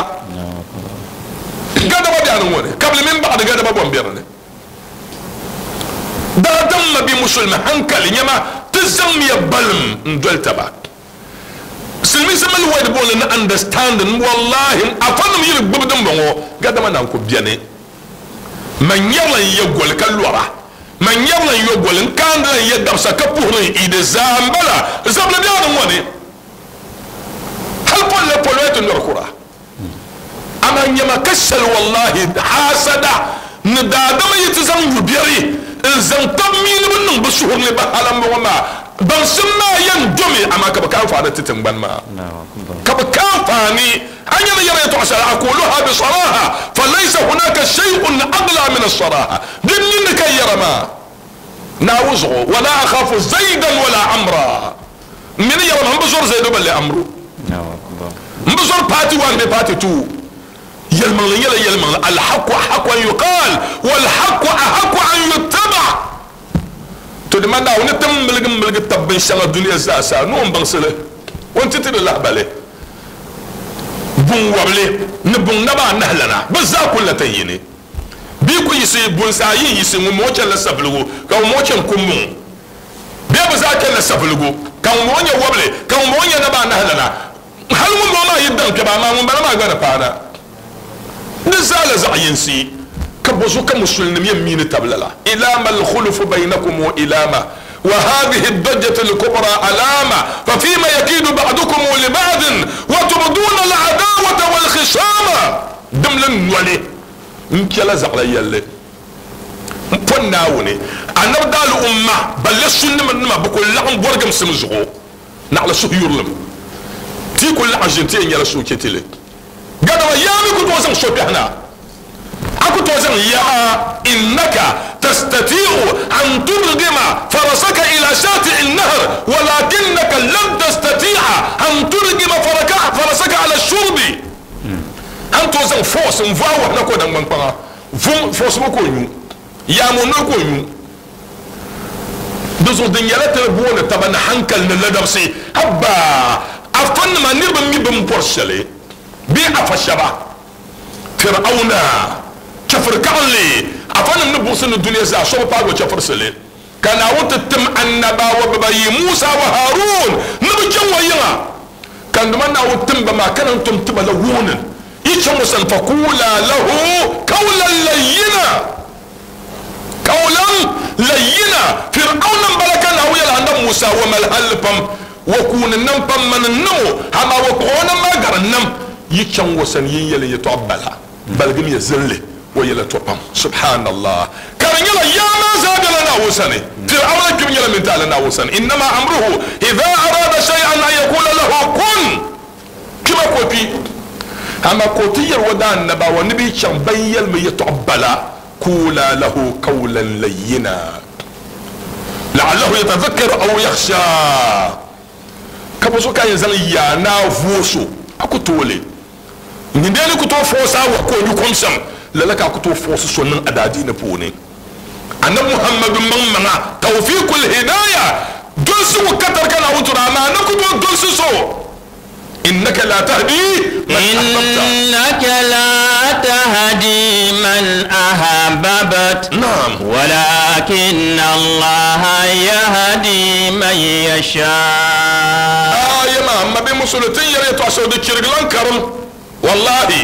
Gadama biɛɣuni ŋɔ ni, kabili mini baɣadi gadama bom be di ni. Daadam ma bi musulimi hankali, nyama ti zaŋmiya balim n-doli taba. Silimiinsi mali word booni ni understanding, wallahi afanim yi di gbubi dimbɔŋɔ gadama naan ku beni. Man nyɛrila n ye goli ka lɔra, man nyɛrila n yo goli n kaandila n ye dabisa ka puhiri n Eid zaa m-bala zabili biɛɣuni ŋɔ ni. Hali polli polo ti lɔri kura. Amaa nyama ka shɛli wallahi haasada ni daadama yi ti zaŋ yu biɛri n-zaŋ tab mi ni bɛ niŋ bɛ suhuri ni bɛ hala m-bɔŋɔ maa, baŋsim maa yɛn domi, amaa ka bɛ ka anfaani ti tiŋgbani maa. Ka bɛ ka anfaani. A nya ni yɛra yɛtɔɣ shɛli, Aquluha bi saraha, falaysa hunaka shay'un aghla min as-saraha. Din ninni ka yɛra maa, Naawuni zuɣu, wala akhafu zaidan wala amra. M mi ni yɛra maa, m bi zɔri Zaidu balle Amru. M bi zɔri party 1 bee party 2. Yɛlimaŋli nyɛla yɛlimaŋli, Alhaqqu ahaqqu an yuqaal, walhaqqu ahaqqu an yuttaba. To di ma Naawuni ni ti miligi miligi tab binshɛŋa dunia zaa sa ni o ni baŋsi li, o ni ti ti di lahibali. Buŋ wɔbili ni buŋ naba anahi lana, bɛ zaa kuli la tin yini. Bɛ ku yiɣisi bunsi ayi n-yiɣisi ŋun mɔɔ chanila sabiligu ka ŋun mɔɔ chani kumbuŋ. Bɛ bi zaa chanila sabiligu ka ŋun mɔɔ nyɛ wɔbili ka ŋun mɔɔ nyɛ naba anahi lana. Hali ŋun bɔŋɔ maa yi daŋ kpɛba, amaa ŋun bala maa gba ni paana. Di zaa la zaɣ yinsi, ka bɔzuɣu ka musulinim yɛn mi ni tab lala? Ilama al-khulufu baynakum wa ilama wa hadhihi ad-dajjatu al-kubra alama fa fima yakidu ba'dukum li ba'din wa tubduna al-adawata wal-khisama. Dimli noli n-kpɛla zaɣila yɛlli m-po Naawuni anabi daali umma balle sunnima bɛ ku laɣim bɔrigimsim zuɣu. Naɣila suhuyurilim ti ku laɣim ʒini ti yɛn nyɛla suhuchɛtili. Gadama yaa mi ku tooi zaŋ so kpɛhi na. A ku tooi zaŋ yaa innaka tastati'u an turgima farasaka ila shati'i nahr walakinnaka lan tastati'a an turgima farasaka ala shurbi. A ni tooi zaŋ force n-vu a wahu na ka o naŋgbankpaŋa vum force ŋɔ ka o nyu. Yaa ŋɔ noli ka o nyu. Di zuɣu di nyɛla ti ni booni taba ni hankali ni ladabsi. Haba! Afanima niriba mi bɛ ni bɔri shɛli bee afa shɛba. Fir'auna, chɛfiri kaɣinli, afanim ni buɣisi ni dunia zaa so bi paagi o chɛfirisili. Ka Naawuni ti tim annabawa bibayi, Musa wa Harun, ni bɛ chaŋ o yiŋa. Ka nduma Naawuni tim ba maa ka naan tom ti ba la warning, Yi chaŋ o sani, faquula lahu qawlan layyina. Qawlan layyina, Fir'auna m-bala ka Naawuni yɛli Annabi Musa, O mali halli pam, o kuuni nam pam, mani n-niŋ o, amaa o kpuɣi o nam maa gari n nam. Yi chaŋ o sani yi ni yɛli yɛtɔɣa bala, baligimi ya zinli o yɛla to pam. Subhanallah! Ka di nyɛla yaa maa zaa bela Naawuni sani. Fir'auna kpibu nyɛla mintaali Naawuni sani. Innama amruhu idha arada shay'an an yaqula lahu kun. Kpima ka o kpi, amaa ka o ti yɛli o daannabawa ni bɛ yi chaŋ ban yɛlimi yɛtɔɣ bala, Quula lahu qawlan layyina la'allahu yatadhakkaru aw yakhsha. Ka bɔ so ka a yɛn zaŋ yaa ni a voos o, a ku tooi li. Nyindee ni ku tooi foosi a wahu ka o nyu kom shɛm, lala ka a ku tooi foosi so niŋ a daadiini puuni. Anabi Muhammadu maŋmaŋa tawfiqul hidaya dolsigu ka tari ka Naawuni tiri a, amaa a ni ku tooi dolsi so. Innaka la tahdi man ahbabta. Innaka la tahdi man ahbabt. Naam. Walakinna Allaha yahdi man yasha. Aaya maa, m mabi Musuli, ti ni yɛli yɛtɔɣ shɛli di chirigila n-karim. Wallahi,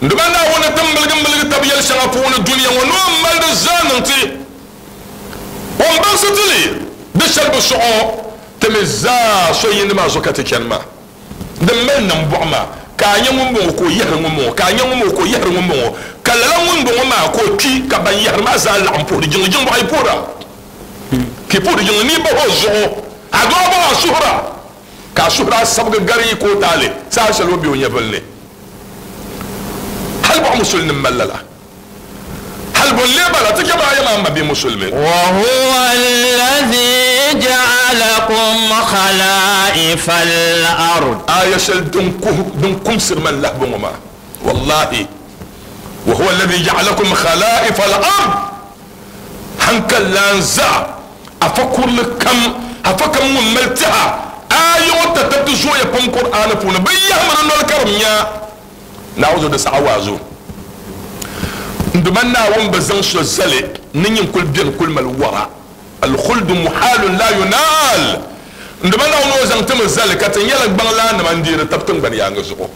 n-dima Naawuni ni ti miligi miligi tab yɛl shɛŋa puuni dunia ŋɔ ni o mali di zaa niŋ ti. O ni baŋsi ti li, di shɛli bi sɔɣ o. Ti mi zaa so yindi maa zuɣu ka ti chani maa. Din mali nambɔɣu maa, ka a nya ŋumbɔŋɔ ka o yɛhiri ŋumbɔŋɔ, ka a nya ŋumbɔŋɔ ka o yɛhiri ŋumbɔŋɔ, ka lala ŋumbɔŋɔ maa ka o kpi, ka ban yɛhiri maa zaa laɣim puhiri jiŋli. Jiŋbɔɣu yi puhira, ka yi puhiri jiŋli ni yi bahi o zuɣu, a dɔɣi bahi a suhira, ka a suhiri a sabigi gari yi ka o taali saha shɛli o be o nyɛvili ni. Hali bɔɣu musulnim mali lala. Hali bɔ n-lee bala ti chɛ maa yɛma m mabia musulmi. Wa huwa allazi ja'alakum khala'ifa al-ard. Aya shɛli din kuhi din kumsiri ma n-lahi bɔŋɔ maa, wallahi, wa huwa allazi ja'alakum khala'ifa al-ard, hankali lan zaa afa kurili kam, afa kam ŋun mali tɛha, aya ŋɔ tatabti zooya pam Kur'aani puuni, bɛ yahimi di noli ka di nya. Naawuni zuɣu di saɣi waazu. N Duuma Naawuni bi zaŋ so zali ni nyin kuli beni kuli mali wara. Al-khuldu muhalun la yunaal. N Duuma Naawuni o zaŋ ti mi zali ka ti nyɛla gbaŋlaannima n-deeri tab tiŋgbani yaaŋa zuɣu.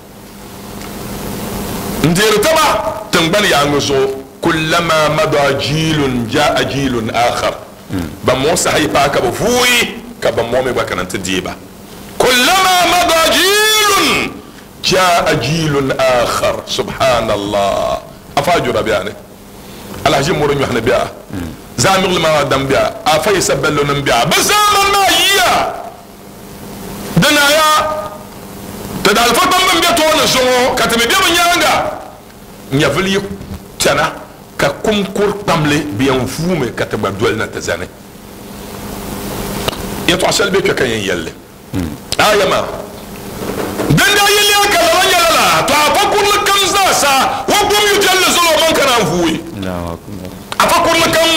N-deeri taba tiŋgbani yaaŋa zuɣu. Kullama mada jiilun jaa jiilun akhar. Ban mɔɔ saha yi paai ka bɛ vuui ka ban mɔɔ mi gba kana nti deei ba. Kullama mada jiilun Jaa jiilun aakhar subhanallah afa ajura bɛ a ni alahaji mori nyɔhini bɛ a zaamiɣili maa dam bɛ a afa yisa bello nim bɛ a bɛ zaamani maa yiya di naaya ti daalifa kpamba n bɛ tooni zuŋɔ ka ti mi bɛ bi nyaaŋa nyɛvili yi chana ka kum kuri kpamli bɛ yɛn vuumi ka ti gba doli na ti zani yɛtɔɣa shɛli bɛ kpɛ ka yɛn yɛlli Aya maa, Din daa yi leei ka lala nyɛla lala, to afa kurili kam zaa sa o gbum yu viɛlli zali o maŋ ka naan vuui. Afa kurili kam.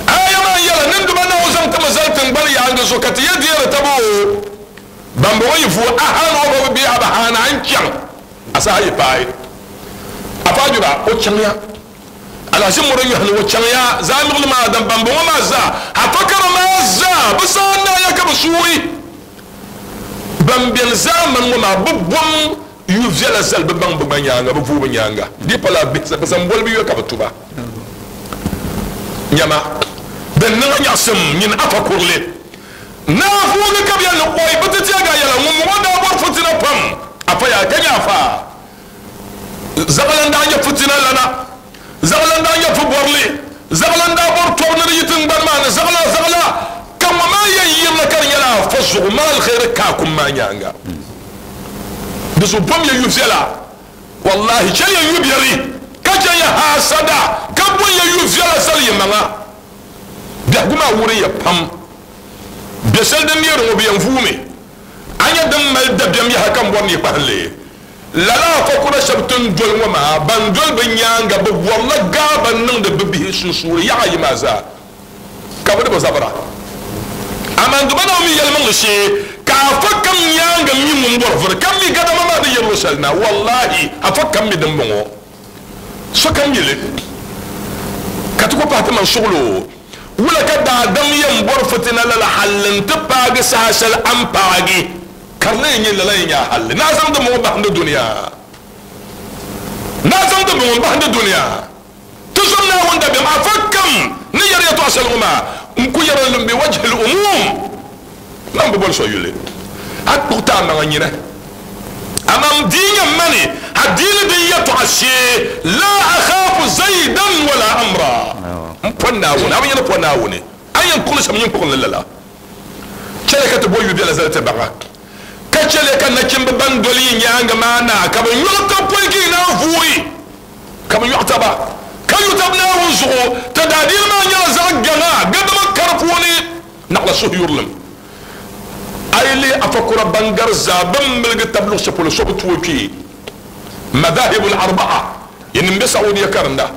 Aya maa n-yɛla, Ninduma Naawuni zaŋ ti mi zali tiŋgbani yaaŋa zuɣu ka ti yɛ deeri taba o. Bambɔŋɔ yi vuui a haana o ba bi bee a ba haana a ni chaŋ a saha yi paai. Afa Ajura o chaŋya. Alahichi mɔri nyɔhi ni o chaŋ ya zaa niɣili maa dan bambɔŋɔ maa zaa, afakara maa zaa, bɛ zaa naaya ka bɛ suui. Ban beni zaamani ŋɔ maa bi bom yu viɛla zali bɛ baŋ bɛ gba nyaaŋa, bɛ vuui bɛ nyaaŋa. Di pala bihi bɛ zaŋ boli bɛ yuya ka bɛ tu ba. Nyama, din niŋ a nyaɣisim nyini afa kurili. Naa vuugi ka bɛ yɛli ni oi bɛ ti teegi a yɛla, ŋumbɔŋɔ daa bɔri fitina pam, afa yaa ka nyɛ afa. Zaɣila n-daa nyɛ fitina lana, zaɣila n-daa nyɛ fubɔrili, zaɣila n-daa bɔri tɔbu ni di yi tiŋgbani maa ni, zaɣila, zaɣila ka ŋɔ maa yɛn yirina ka di nyɛla afa zuɣu maa aliheri ka a kum maa nyaaŋa. Di zuɣu bom ya yu viɛla, wallahi chɛliya yu biɛri, ka chɛ ya haasada, ka bom ya yu viɛla zali yi maŋa. Biɛhigu maa wuriya pam. Biɛ shɛli din neeri ŋɔ bi yɛn vuumi. A nya din mali dabiɛm yaha ka m bɔri ni yi kpahim li. Lala afa kura shɛba ti ni doli ŋɔ maa, ban doli bɛ nyaaŋa, bɛ bɔrila gaaba n-niŋdi bɛ bihi sunsuuni yaɣa ayi maa zaa, ka bɛ di bi zabira. Amaa n Duuma Naawuni mi yɛlimaŋli shee, ka afa kam nyaaŋa mi ŋun bɔri vuri, ka mi gadama maa ni yiri luɣ shɛli na. Wallahi, afa kam mi dimbɔŋɔ. Sokam mi li, ka ti ku pahi ti maŋ suɣili o. Wula ka daadam yɛn bɔri fitina lala halli nti paagi saha shɛli a ni paagi? Ka di lee nyɛ lala yɛn nyɛ a halli ni a zaŋ dimbɔŋɔ bahindi dunia? Ni a zaŋ dimbɔŋɔ m-bahindi dunia? Ti zom Naawuni dabiɛm afa kam ni yɛri yɛtɔɣ shɛli ŋɔ maa, n ku yɛri li m-bi wajhil umuum, man bi boli so yuli. A kpuɣi ti a maŋa nyini, amaa m dii nya mani adiini din yɛtɔɣa shee, laa akhaafu zaidan wala amra. M pɔ Naawuni, a bi nya ni pɔ Naawuni, a ni yɛn kpuɣi li shɛm nyin kpuɣim li lala. Chɛliya ka ti bo yu biɛla zali ti baɣa, ka chɛliya ka nachimba ban doli yi nyaaŋa maa na ka bɛ nyɔɣi tab pɔi ka yi naan vuui, ka bɛ nyɔɣi taba ka yu tab Naawuni zuɣu. Ti daadiini maa nyɛla zaɣ gaŋa gadama ka di puuni naɣila suhuyurilim. A yi lihi afa kura ban gari zaa bɛn miligi tab luɣ shɛli polo so bi tooi kpe Madhahibul Arba'a, yinim be Saudiya karinda.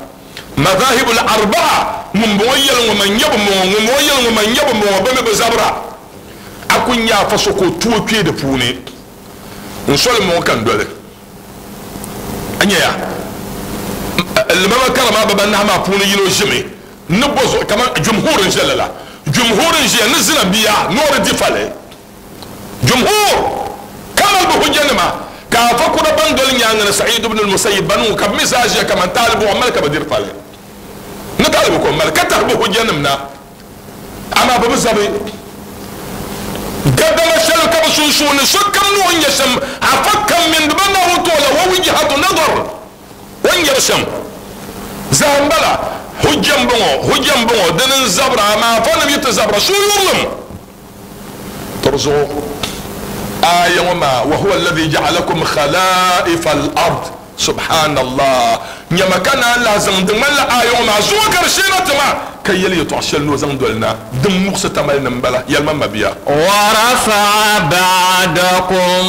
Madhahibul Arba'a, ŋumbɔŋɔ yɛli ŋɔ man nyɛbu m-bɔŋɔ, ŋumbɔŋɔ yɛli ŋɔ man nyɛbu m-bɔŋɔ, bɛ mi bi zabira. A ku nya afa so ka o tooi kpe di puuni. N soli m-bɔŋɔ ka n doli. A nyaya, limama karima bibanahi maa puuni yino ʒimi ni bɔ zuɣu kaman jumhur n-ʒe lala. Jumhur n-ʒiya ni zina bia ni o di di fali. Jumhur ka mali bɛ hujjanima, ka afa kura ban doli nyaaŋa ni Sa'id ibn al-Musayyib banu ka bɛ mi zaa ʒiya kaman taalibu o mali ka bɛ diri fali ni taalibu ka o mali ka tahi bɛ hujjanim na, amaa bɛ bi zabi gadama shɛli ka bɛ sunsuuni sokam ni o ni nya shɛm, afa kam mini di ba Naawuni ti o la wa wijhatu nadar, o ni nyari shɛm zaa m-bala, hujja m-bɔŋɔ, hujja m-bɔŋɔ, dini n-zabira, amaa afanim yi ti zabira suhuyurilim. Tɔbu zuɣu aaya ŋɔ maa, wa huwa alladhi ja'alakum khala'ifa al-ard. Subhanallah. Nyama ka naan lahi zaŋ di ŋmanila aaya ŋɔ maa zuŋɔ ka di sheena ti ma ka yɛli yɛtɔɣ shɛli ni o zaŋ doli na din muɣisi tamali ni m-bala. Yɛlima m mabia. ورفع بعضكم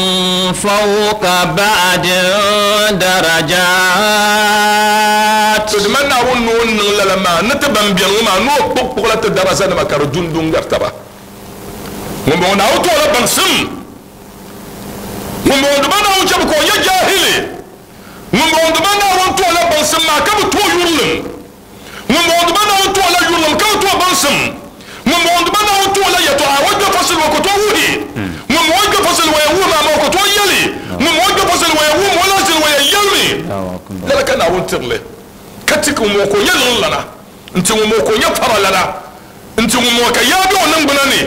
فوق بعض درجات. To dima Naawuni ni o niŋ lala maa ni ti ban beni ŋɔ maa ni o kpuɣikpuɣila ti darazanima ka di dundu n-gari taba. Ŋumbɔŋɔ Naawuni ti o la baŋsim. Ŋumbɔŋɔ dima Naawuni chɛmi ka o nyɛ jahili. Ŋumbɔŋɔ dima Naawuni ti o la baŋsim maa ka bi ti o yurilim. Ŋumbɔŋɔ dima Naawuni ti o la yurilim ka bi ti o baŋsim. Ŋumbɔŋɔ dima Naawuni ti o la yɛtɔɣa o gbe fasili o ku tooi wuhi. Ŋumbɔŋɔ gbe fasili o yɛn wuhi maa maa o ku tooi yɛli. Ŋumbɔŋɔ gbe fasili o yɛn wuhi ma o lahi ʒini o yɛn yɛlimi. Lala ka Naawuni tiri li ka ti ka ŋumbɔŋɔ ka o nyɛ liɣilana n-ti ŋumbɔŋɔ ka o nyɛ faralana n-ti ŋumbɔŋɔ ka yaa be o niŋgbuna ni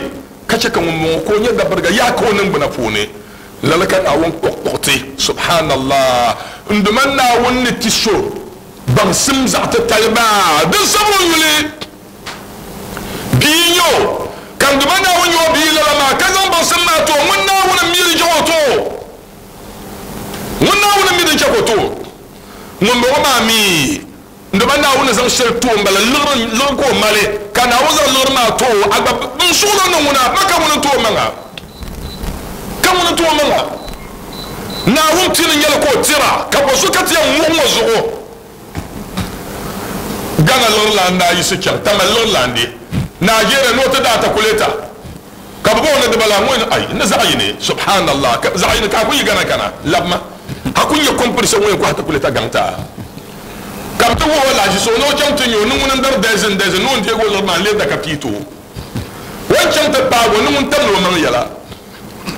ka chɛ ka ŋumbɔŋɔ ka o nyɛ dabiriga yaa ka o niŋgbuna puuni. Lala ka Naawuni kpuɣikpuɣi ti. Subhanallah! N Duuma Naawuni ni ti so baŋsim zaɣ titali maa, di zabi o yuli. Bia n-nyɛ o, ka n Duuma Naawuni nyɛ o bia lala maa, ka zaŋ baŋsim maa ti o. Ŋun Naawuni m-mi di chɛ ka o ti o. Ŋun Naawuni m-mi di chɛ ka o ti o. Ŋumbɔŋɔ maa mi, n Duuma Naawuni ni zaŋ shɛli ti o m-bala, liɣiri ka o mali, ka Naawuni zaŋ liɣiri maa ti o, a gba n suɣilo ni ŋuna, ma ka ŋuni n-ti o maŋa? Ka ŋuni n-ti o maŋa? Naawuni pini n-nyɛli ka o tira, ka bɔ so ka ti yɛn muɣi ŋɔ zuɣu? Ghana liɣiri lan daa yiɣisi chaŋ Tamale liɣiri lan di Nigeria ni o ti daa takuleta ka bɛ booni di bala ŋɔ ai ni zaɣ yini subhanallah ka zaɣ yini ka a ku yi Ghana kana labima a ku nya competition ŋɔ yɛn kɔhi takuleta gaŋ ti a ka bɛ ti wuhi o lahiʒi so ni o chaŋ ti nya o ni ŋuni n-dari dɛzin dɛzin ni o ni deegi o liɣiri maa n-lee da ka pii ti o o ni chaŋ ti paagi o ni ŋun tamdi o maŋ yɛla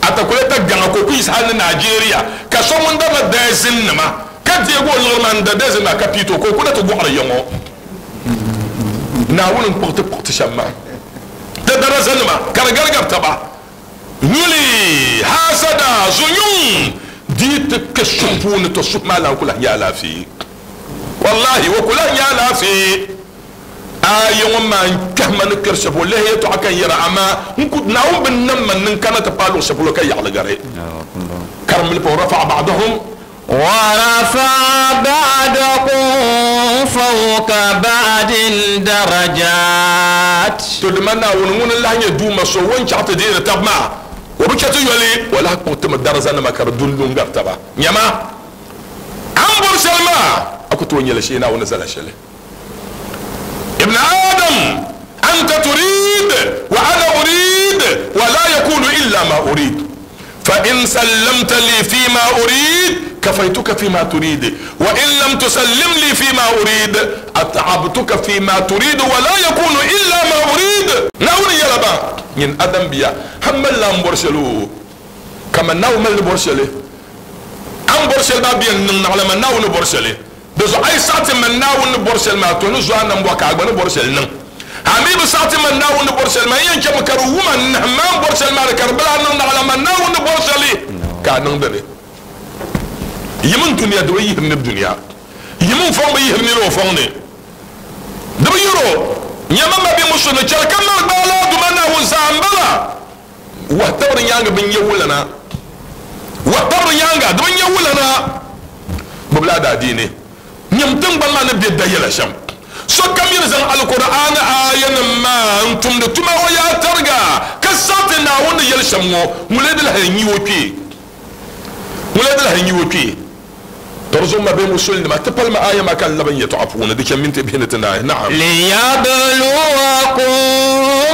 a takuleta gaŋa ka o ku yiɣisi hali ni Nigeria ka so ŋun darila dɛzin nima ka deegi o liɣiri maa n-da dɛzin maa ka pii ti o ka o kuna ti gɔɣiri ya ŋɔ. Naawuni n-kpuɣi ti kpuɣi ti shɛm maa ti darazanima ka di garigari taba nyuli, haasada, zunyuŋ di ti kpe suhu puuni to suhu maa lan ku lahi nya alaafee. Wallahi o ku lahi nya alaafee. A yi ŋɔ maa n-kpɛhi ma ni kpɛri shɛli polo lihi yɛtɔɣa ka n yɛra, amaa n ku Naawuni bi nam ma ni n kana ti paai luɣ shɛli polo ka yaɣili gari. Karimli pa rafa'a ba'dahum. ورفع بعضكم فوق بعض درجات. To dima Naawuni ŋuni n-lahi nyɛ Duuma so o ni chaɣ ti deeri tab maa, o bi chɛ ti yoli, o lahi kpuɣi ti mi darazanima ka di dundu n-gari taba. Nyama, a ni bɔri shɛli maa, a ku tooi nya li shee Naawuni ni zala shɛli. Ibn Adam, anta turid wa ana urid wa la yakunu illa ma urid. Fa in sallamta li fi ma urid kafaytuka fi ma turid wa in lam tusallim li fi ma urid at'abtuka fi ma turid wa la yakunu illa ma urid. Naawuni yɛla ba, nyin Adam bia, a malila a ni bɔri shɛli o, kaman Naawuni mali ni bɔri shɛli. A ni bɔri shɛli maa bi yɛn niŋ naɣila man Naawuni ni bɔri shɛli. Di zuɣu a yi saɣi ti man Naawuni ni bɔri shɛli maa, to ni zo a nambɔɣu ka a gba ni bɔri shɛli niŋ. A mi bi saɣi ti man Naawuni ni bɔri shɛli maa, n yɛn chɛmi ka di wum a n-nahim ma a ni bɔri shɛli maa ni ka di bi lahi niŋ naɣila man Naawuni ni bɔri shɛli ka a niŋdi li. Yim n dunia, di bi yihiri nir dunia. Yim n fɔŋ bi yihiri nir o fɔŋ ni. Di bi yihir o. Nyama ma bɛ musu ni chɛli ka mali gbaai la Duuma Naawuni zaa m-bala. Wahu tabiri nyaaŋa bi nya wulana. Wahu tabiri nyaaŋa di bi nya wulana. Gbubila a daadiini. Nyam tiŋgbani maa ni be dayɛla shɛm. Sokam yi ni zaŋ Alkur'aani aayanim maa n-tumdi tuma o yaa tariga, ka saɣiti Naawuni ni yɛli shɛm ŋɔ, ŋun lee di lahi n-yi o kpee? Ŋun lee di lahi n-yi o kpee? Tɔri zuɣu ma bee musulinima, ti palimi aaya maa ka n labi n yɛtɔɣa puuni, di chani minti bihi ni ti naai. Naam. Liyabluwakum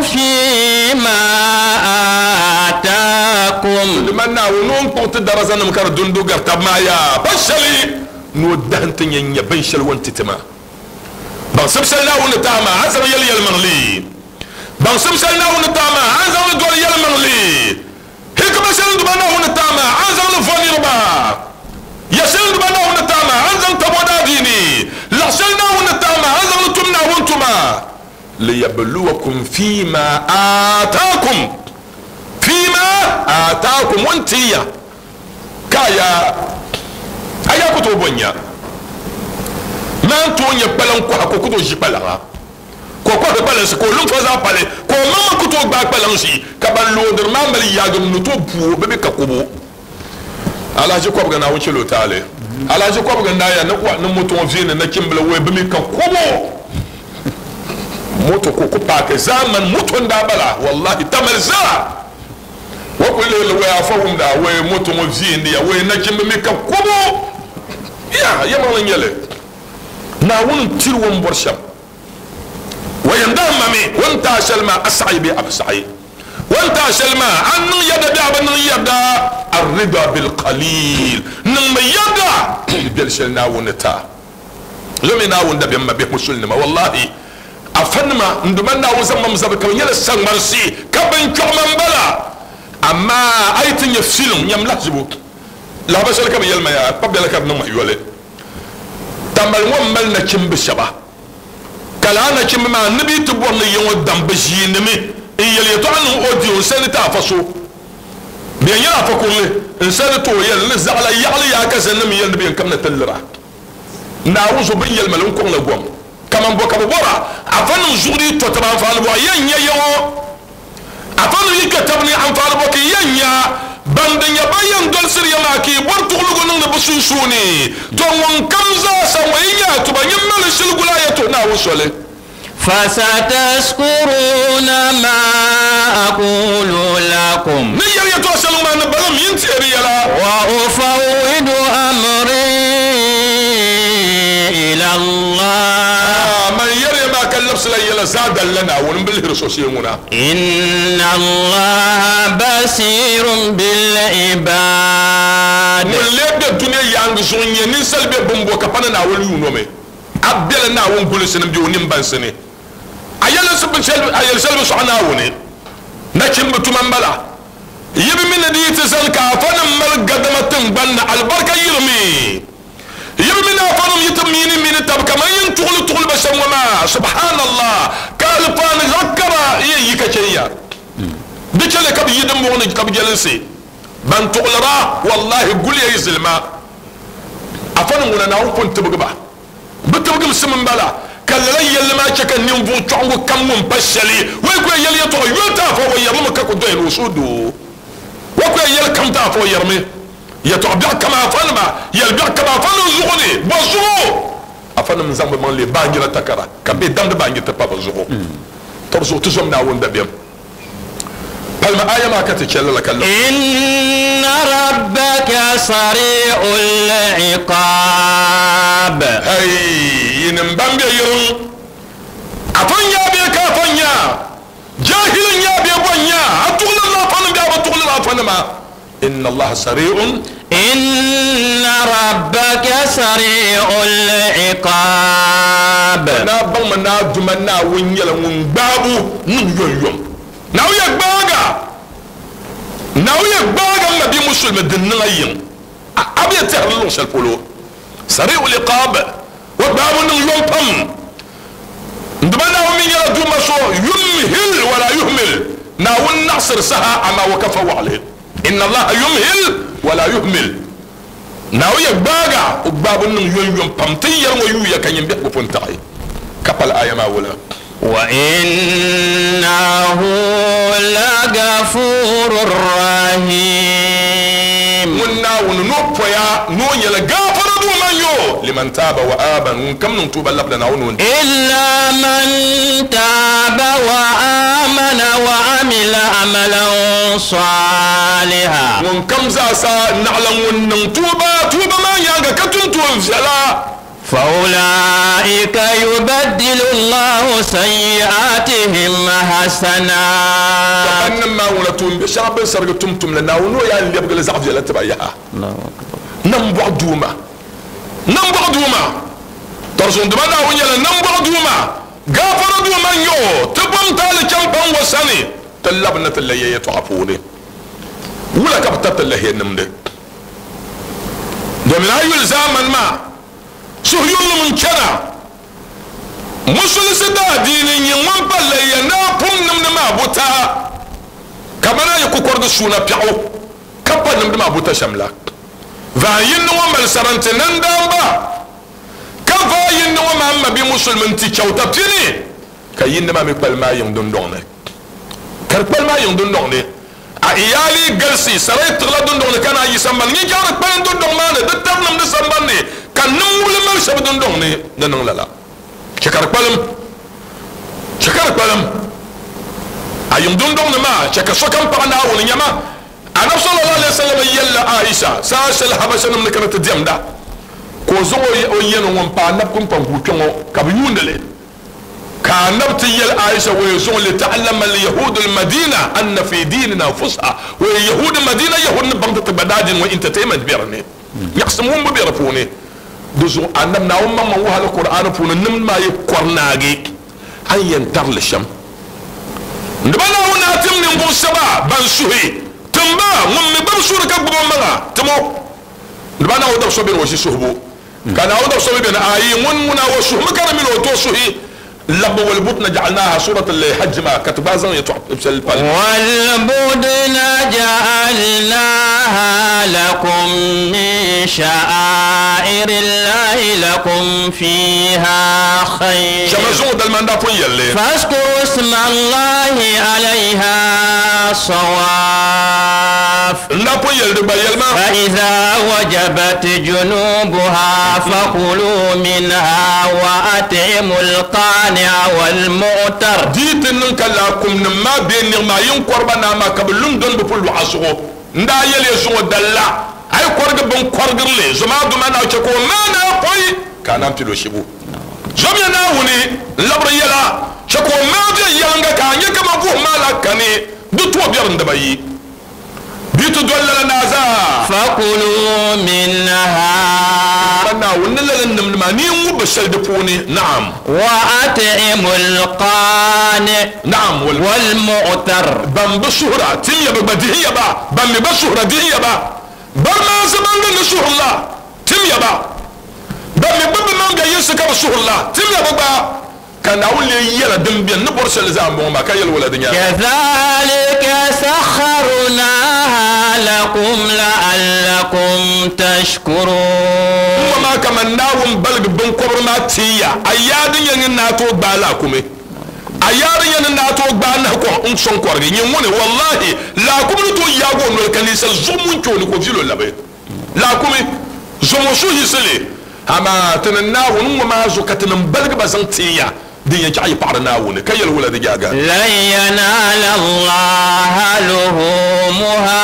fima aataakum. Di mani Naawuni o ni kpuɣi ti darazanim ka di dundu gari tab maa yaa pa shɛli ni o dahim ti nya n-nya binshɛli o ni ti ti ma. Baŋsim shɛli Naawuni ni ti a maa, a ni zaŋ yɛli yɛlimaŋli. Baŋsim shɛli Naawuni ni ti a maa, a ni zaŋ li doli yɛlimaŋli. Hikima shɛli Duuma Naawuni ni ti a maa, a ni zaŋ li vo niriba. Ya shɛli Duuma Naawuni ni ti a maa, a ni zaŋ tab o daadiini. Laɣ shɛli Naawuni ni ti a maa, a ni zaŋ li tum Naawuni tuma. Liyabluwakum fima aataakum, fima aataakum, o ni ti ya ka a yaa, a yaa ku tooi bo n-nya. Maan tooi nya kpalaŋ kɔha ka o ku tooi ʒi kpalaŋa. Ka o kɔhiri kpalansi, ka o lunfa zaa pali, ka o maŋmaŋ ku tooi gbaai kpalaŋ ʒi, ka ban loodiri maa mali yaagi n-ni tooi bu o, bɛ mi ka kubu. Alahichi kɔbiga Naawuni chɛl o taali. Alahaji kɔbiga n daa ya ni wa ni moto ŋɔ viini nachimbila wai bi mi ka kobo moto ka o ku paaki zaamani moto n daa bala wallahi tamali zaa o ku lihiri li wai afa wumda wai moto ŋɔ viini ya wai nachimbi mi ka kobo ya yɛmaŋli n nyɛli Naawuni n tiri o ni bɔri shɛm o yɛn daa ma mi o ni taai shɛli maa a saɣi bee a bi saɣi o ni taai shɛli maa a niŋ yɛda bee a bi niŋ yɛda arrida bilqalil niŋmi yɛda ni bɛli shɛli Naawuni ni taai zomi Naawuni dabiɛm ma bihi musulinima wallahi afanima n duma Naawuni zaŋ mam zabiri ka bi nyɛla saŋmarisi ka binkpiɣi ma m-bala amaa a yi ti nya filim nyam lahizibu lahaba shɛli ka bi yɛli ma yaa kpa bɛla ka di niŋ ma yoli Tamale ŋɔ mali nachimbi shɛba, ka lala nachimbi maa ni bɛ yi ti bɔri ni ya ŋɔ dam bɛ ʒiinimi n-yɛli yɛtɔɣa niŋ audio n-sani ti afa so. Bɛ yɛn nyɛla afa kurili n-sani ti o yɛli ni zaɣila yaɣili yaa ka zani mi yɛli ni bɛ yɛn kamina ti lira. Naawuni zuɣu bɛ ni yɛli ma li n-kɔŋ la gom. Kaman bɔ ka bɛ bɔra? Afanim zuɣu di yi to taba anfaani bɔ yɛn nya ya ŋɔ? Afanim yi kpe tab ni anfaani bɔ ka yi yɛn nya? Ban di nya ba yɛn dolisiri ya maa ka yi bɔri tuɣiligu niŋdi bɛ sunsuuni. Tɔ ŋunkam zaa sa ŋɔ yi nya a tuba, nyin mali shili guli a yɛtɔɣ Naawuni soli. Fasatazkuruna ma aqulu lakum. Ni yɛli yɛtɔɣ shɛli ŋɔ maa ni balim yi ni teei di yɛla. Wa ufawwidu amri ila Allah. Man yɛri ya maa ka labisila yɛla zaadali la Naawuni m-bi lihiri so shee ŋuna. Inna Allaha basirun bil ibad. Ŋun lee be dunia yaaŋgi zuɣu n-nyɛ ninsal be bimbo ka pa ni Naawuni yuun o mi. A bela Naawuni gulinsi ni m-be o nimbansi ni. A yɛli shɛli bi sɔɣi Naawuni. Nachimba tuma m-bala. Yi bi mi ni di yi ti zani ka afanim mali gadama tiŋgbani ni alibarika yirimi. Yi bi mi ni afanim yi ti miini mini tab kaman yi ni tuɣili tuɣili ba shɛm ŋɔ maa. Subhanallah! Ka alifaani zaɣ kara yɛn yi ka chɛn ya. Di chɛliya ka bɛ yi dimbɔŋɔ ni ka bɛ jɛlinsi ban tuɣilira. Wallahi guliya yi zilima. Afanim ŋuna Naawuni pun tibigi ba. Bɛ tibigimsim m-bala, ka lala yɛlli maa chɛ ka ninvuɣ chɔɣiŋgu kam ŋun pa shɛli o yi ku yɛn yɛli yɛtɔɣa yoli ti afa o yɛrimi ka ku doya ni o suhudoo. O ku yɛn yɛli kam ti afa o yɛrimi yɛtɔɣ biɛɣu kam afanima, yɛl biɛɣu kam afanim zuɣu ni. Bɔ zuɣu? Afanim n-zaŋ bɛ maŋ leei baanjira takara, ka bɛ damdi baanjir ti pa bɛ zuɣu. Tɔ di zuɣu ti zom Naawuni dabiɛm. Palimi aya maa ka ti chɛ lala ka lab. Inna rabbaka sari'ul iqaab. Hey, yinim ban be yiriŋ, afa n-nya bee ka afa n-nya, jahil n-nya bee bɔ n-nya, a tuɣilirila afanim bee a bi tuɣiliri afanima? Inna Allaha sari'un. Inna rabbaka sari'ul iqaab. Naa baŋmi ni a Duuma Naawuni nyɛla ŋun gbaabu niŋ yomyom. Naawuni ya gbaaga, Naawuni ya gbaaga m mabia musulimi din niŋ a yiŋ. A a bi yɛn tɛhiri li luɣ shɛli polo. Sari'ul iqaab, o gbaabu niŋ yom pam. N Duuma Naawuni mi nyɛla Duuma so yumhil wala yuhmil. Naawuni naɣisiri saha amaa o ka fa waɣili. Inna Allaha yumhil wala yuhmil. Naawuni ya gbaaga o gbaabu niŋ yomyom pam. Ti ni yɛri ŋɔ yuuya ka nyin biɛhigu pun taɣi ka pali aya maa wula. Wa innahu lagafurur rahim. Ŋun Naawuni ni o poya ni o nyɛla gaafara Duuma n-yo liman taaba wa aaman, ŋun kam niŋ tuuba labina Naawuni o ni. Illa man taaba wa aamana wa amila amalan saaliha. Ŋun kam zaasa naɣila ŋun niŋ tuuba, tuuba maa nyaaŋa ka tum tuun viɛla. Fa ulaika yubaddilu Allahu sayyi'atihim hasanat. Ka bannim maa ŋuna tuumbe shɛŋa bɛ ni sarigi tum tumli, Naawuni o yaa lɛbigi li zaɣ viɛla ti ba yaha. Nambɔɣu Duuma, nambɔɣu Duuma, Tɔrisuŋdima Naawuni nyɛla nambɔɣu Duuma, gaafara Duuma n-nyɛ o, ti bom taali chaŋ paŋ o sani, ti labina ti lahiya yɛtɔɣa puuni. Wula ka bɛ tariti lahiya nimdi? Domin a yuli zaamani maa, suhuyurilim n-chana. Musulinsi daadiini n-nyɛ ŋun pa lahiya naa pum nimdi maa buta, kamani a yi kukɔrigi suuna piɛɣu ka pa nimdi maa buta shɛm la. Vaai yindi ŋɔ mali saranti nandaamba, ka vaai yindi ŋɔ maa m mabia musulimi nti chɛuta pini, ka yindi maa mi kpalim a yiŋ dundɔŋ ni. Ka di kpalim a yiŋ dundɔŋ ni. A iyaali galisi, sarai tiɣila dundɔŋ ni ka naan yi sambani. Nyin chaŋ di kpalim dundɔŋ maa ni, di tab nimdi sambani ni. kani di niŋ lala. Chɛ ka di kpalim, chɛ ka di kpalim a yiŋ dundɔŋ ni maa, chɛ ka sokam paɣi Naawuni. Nyama, Anabi sallallahu alaihi wasallam yɛlila Aisha saha shɛli Habashanim ni kana ti diɛmda, ka o zaŋ o yɛno ŋun pa Anabi kpunkpaŋ kpe ŋɔ ka bɛ yuundi li. Ka Anabi ti yɛli Aisha, Waya zuŋɔ lita'allama al-yahudu al-Madina anna fi dinina fusha, waya Yahudi Madina Yahudi ni baŋ ti ti gba daadini ŋɔ entertainment be di ni, nyaɣisim wumbu be di puuni. Di zuɣu Anabi Naawuni maŋmaŋ wuhi Alkur'aani puuni nimdi maa yi kɔri naagi a ni yɛn tari li shɛm. N-di ba Naawuni daa tim ninvuɣ shɛba ban suhi tim ba ŋun mi gbibi suhuri ka gbibi o maŋa tim o. N-di ba Naawuni dab so beni o ʒi suhibu, ka Naawuni dab so mi beni ayi ŋun ŋuna o suhimi ka di mini o tooi suhi labbu. Walbudna ja'alnaha surat al-Hajj maa ka ti gba zaŋ yɛtɔɣ shɛli pali. Walbudna ja'alnaha lakum min sha'airillahi lakum fiha khayr. Shɛma zuŋɔ dalima n daa pun yɛli li. Fazkuru ismallahi alayha sawaf. N daa pun yɛli di gba yɛli ma. Fa iza wajabat junubuha fakulu minha wa at'imul qani'a wal mu'tar. Di yi ti niŋ ka laakumnim maa bee niɣi maa yi n-kɔri ba naa maa ka bɛ lum doni bɛ puli lɔɣa zuɣu, n daa yɛli ya zuŋɔ dalla, a yi kɔrigi biŋkɔrigirili zoma duma naa chɛ ka o maani a pɔi ka a naan pili o shibu. Zomiya Naawuni n-labiri yɛla chɛ ka o maai viɛnyɛliŋga ka a nya kaman vuhim maa la kani di tooi biɛri n-dibayi. Di ti doli lala naa zaa. Fakulu minha. Ka Naawuni ni lala nimdi maa ni yi ŋubbi shɛli di puuni, naam. Wa at'imul qani. Naam. Wal mu'tar. Ban bi suhira, tim ya bɛ gba dihi ya ba. Ban mi gba suhira, dihi ya ba. Ban maansi ban ni ni suhiri la, tim ya ba. Ban mi gba bi maŋ bɛ yinsi ka bi suhiri la, tim ya bɛ gba. Ka Naawuni lee yɛla din beni ni bɔri shɛli zaa m-bɔŋɔ maa, ka yɛli wula di nyaaŋa? Kazalika sakharnaha lakum la'allakum tashkurun. Ŋ-ŋɔ maa kaman Naawuni baligi biŋkɔbiri maa ti ya, a yaa din yɛn ni naa tooi gbaai laakumi, a yaa din yɛn ni naa tooi gbaai nahi kɔŋ n-sɔŋ kɔrigi. Nyin ŋuni, wallahi, laakumi ni tooi yaagi o noli ka ninsal zuɣu mun kpe o ni ka o viɛl o labi. Laakumi, zom o suhuyiɣisili. Amaa ti ni Naawuni ŋɔ maa zuɣu ka ti ni baligi ba zaŋ tin ya din yɛn chaɣ yi paɣiri Naawuni, ka yɛli wula di jaaga? Lan yanaala Allaha luhumuha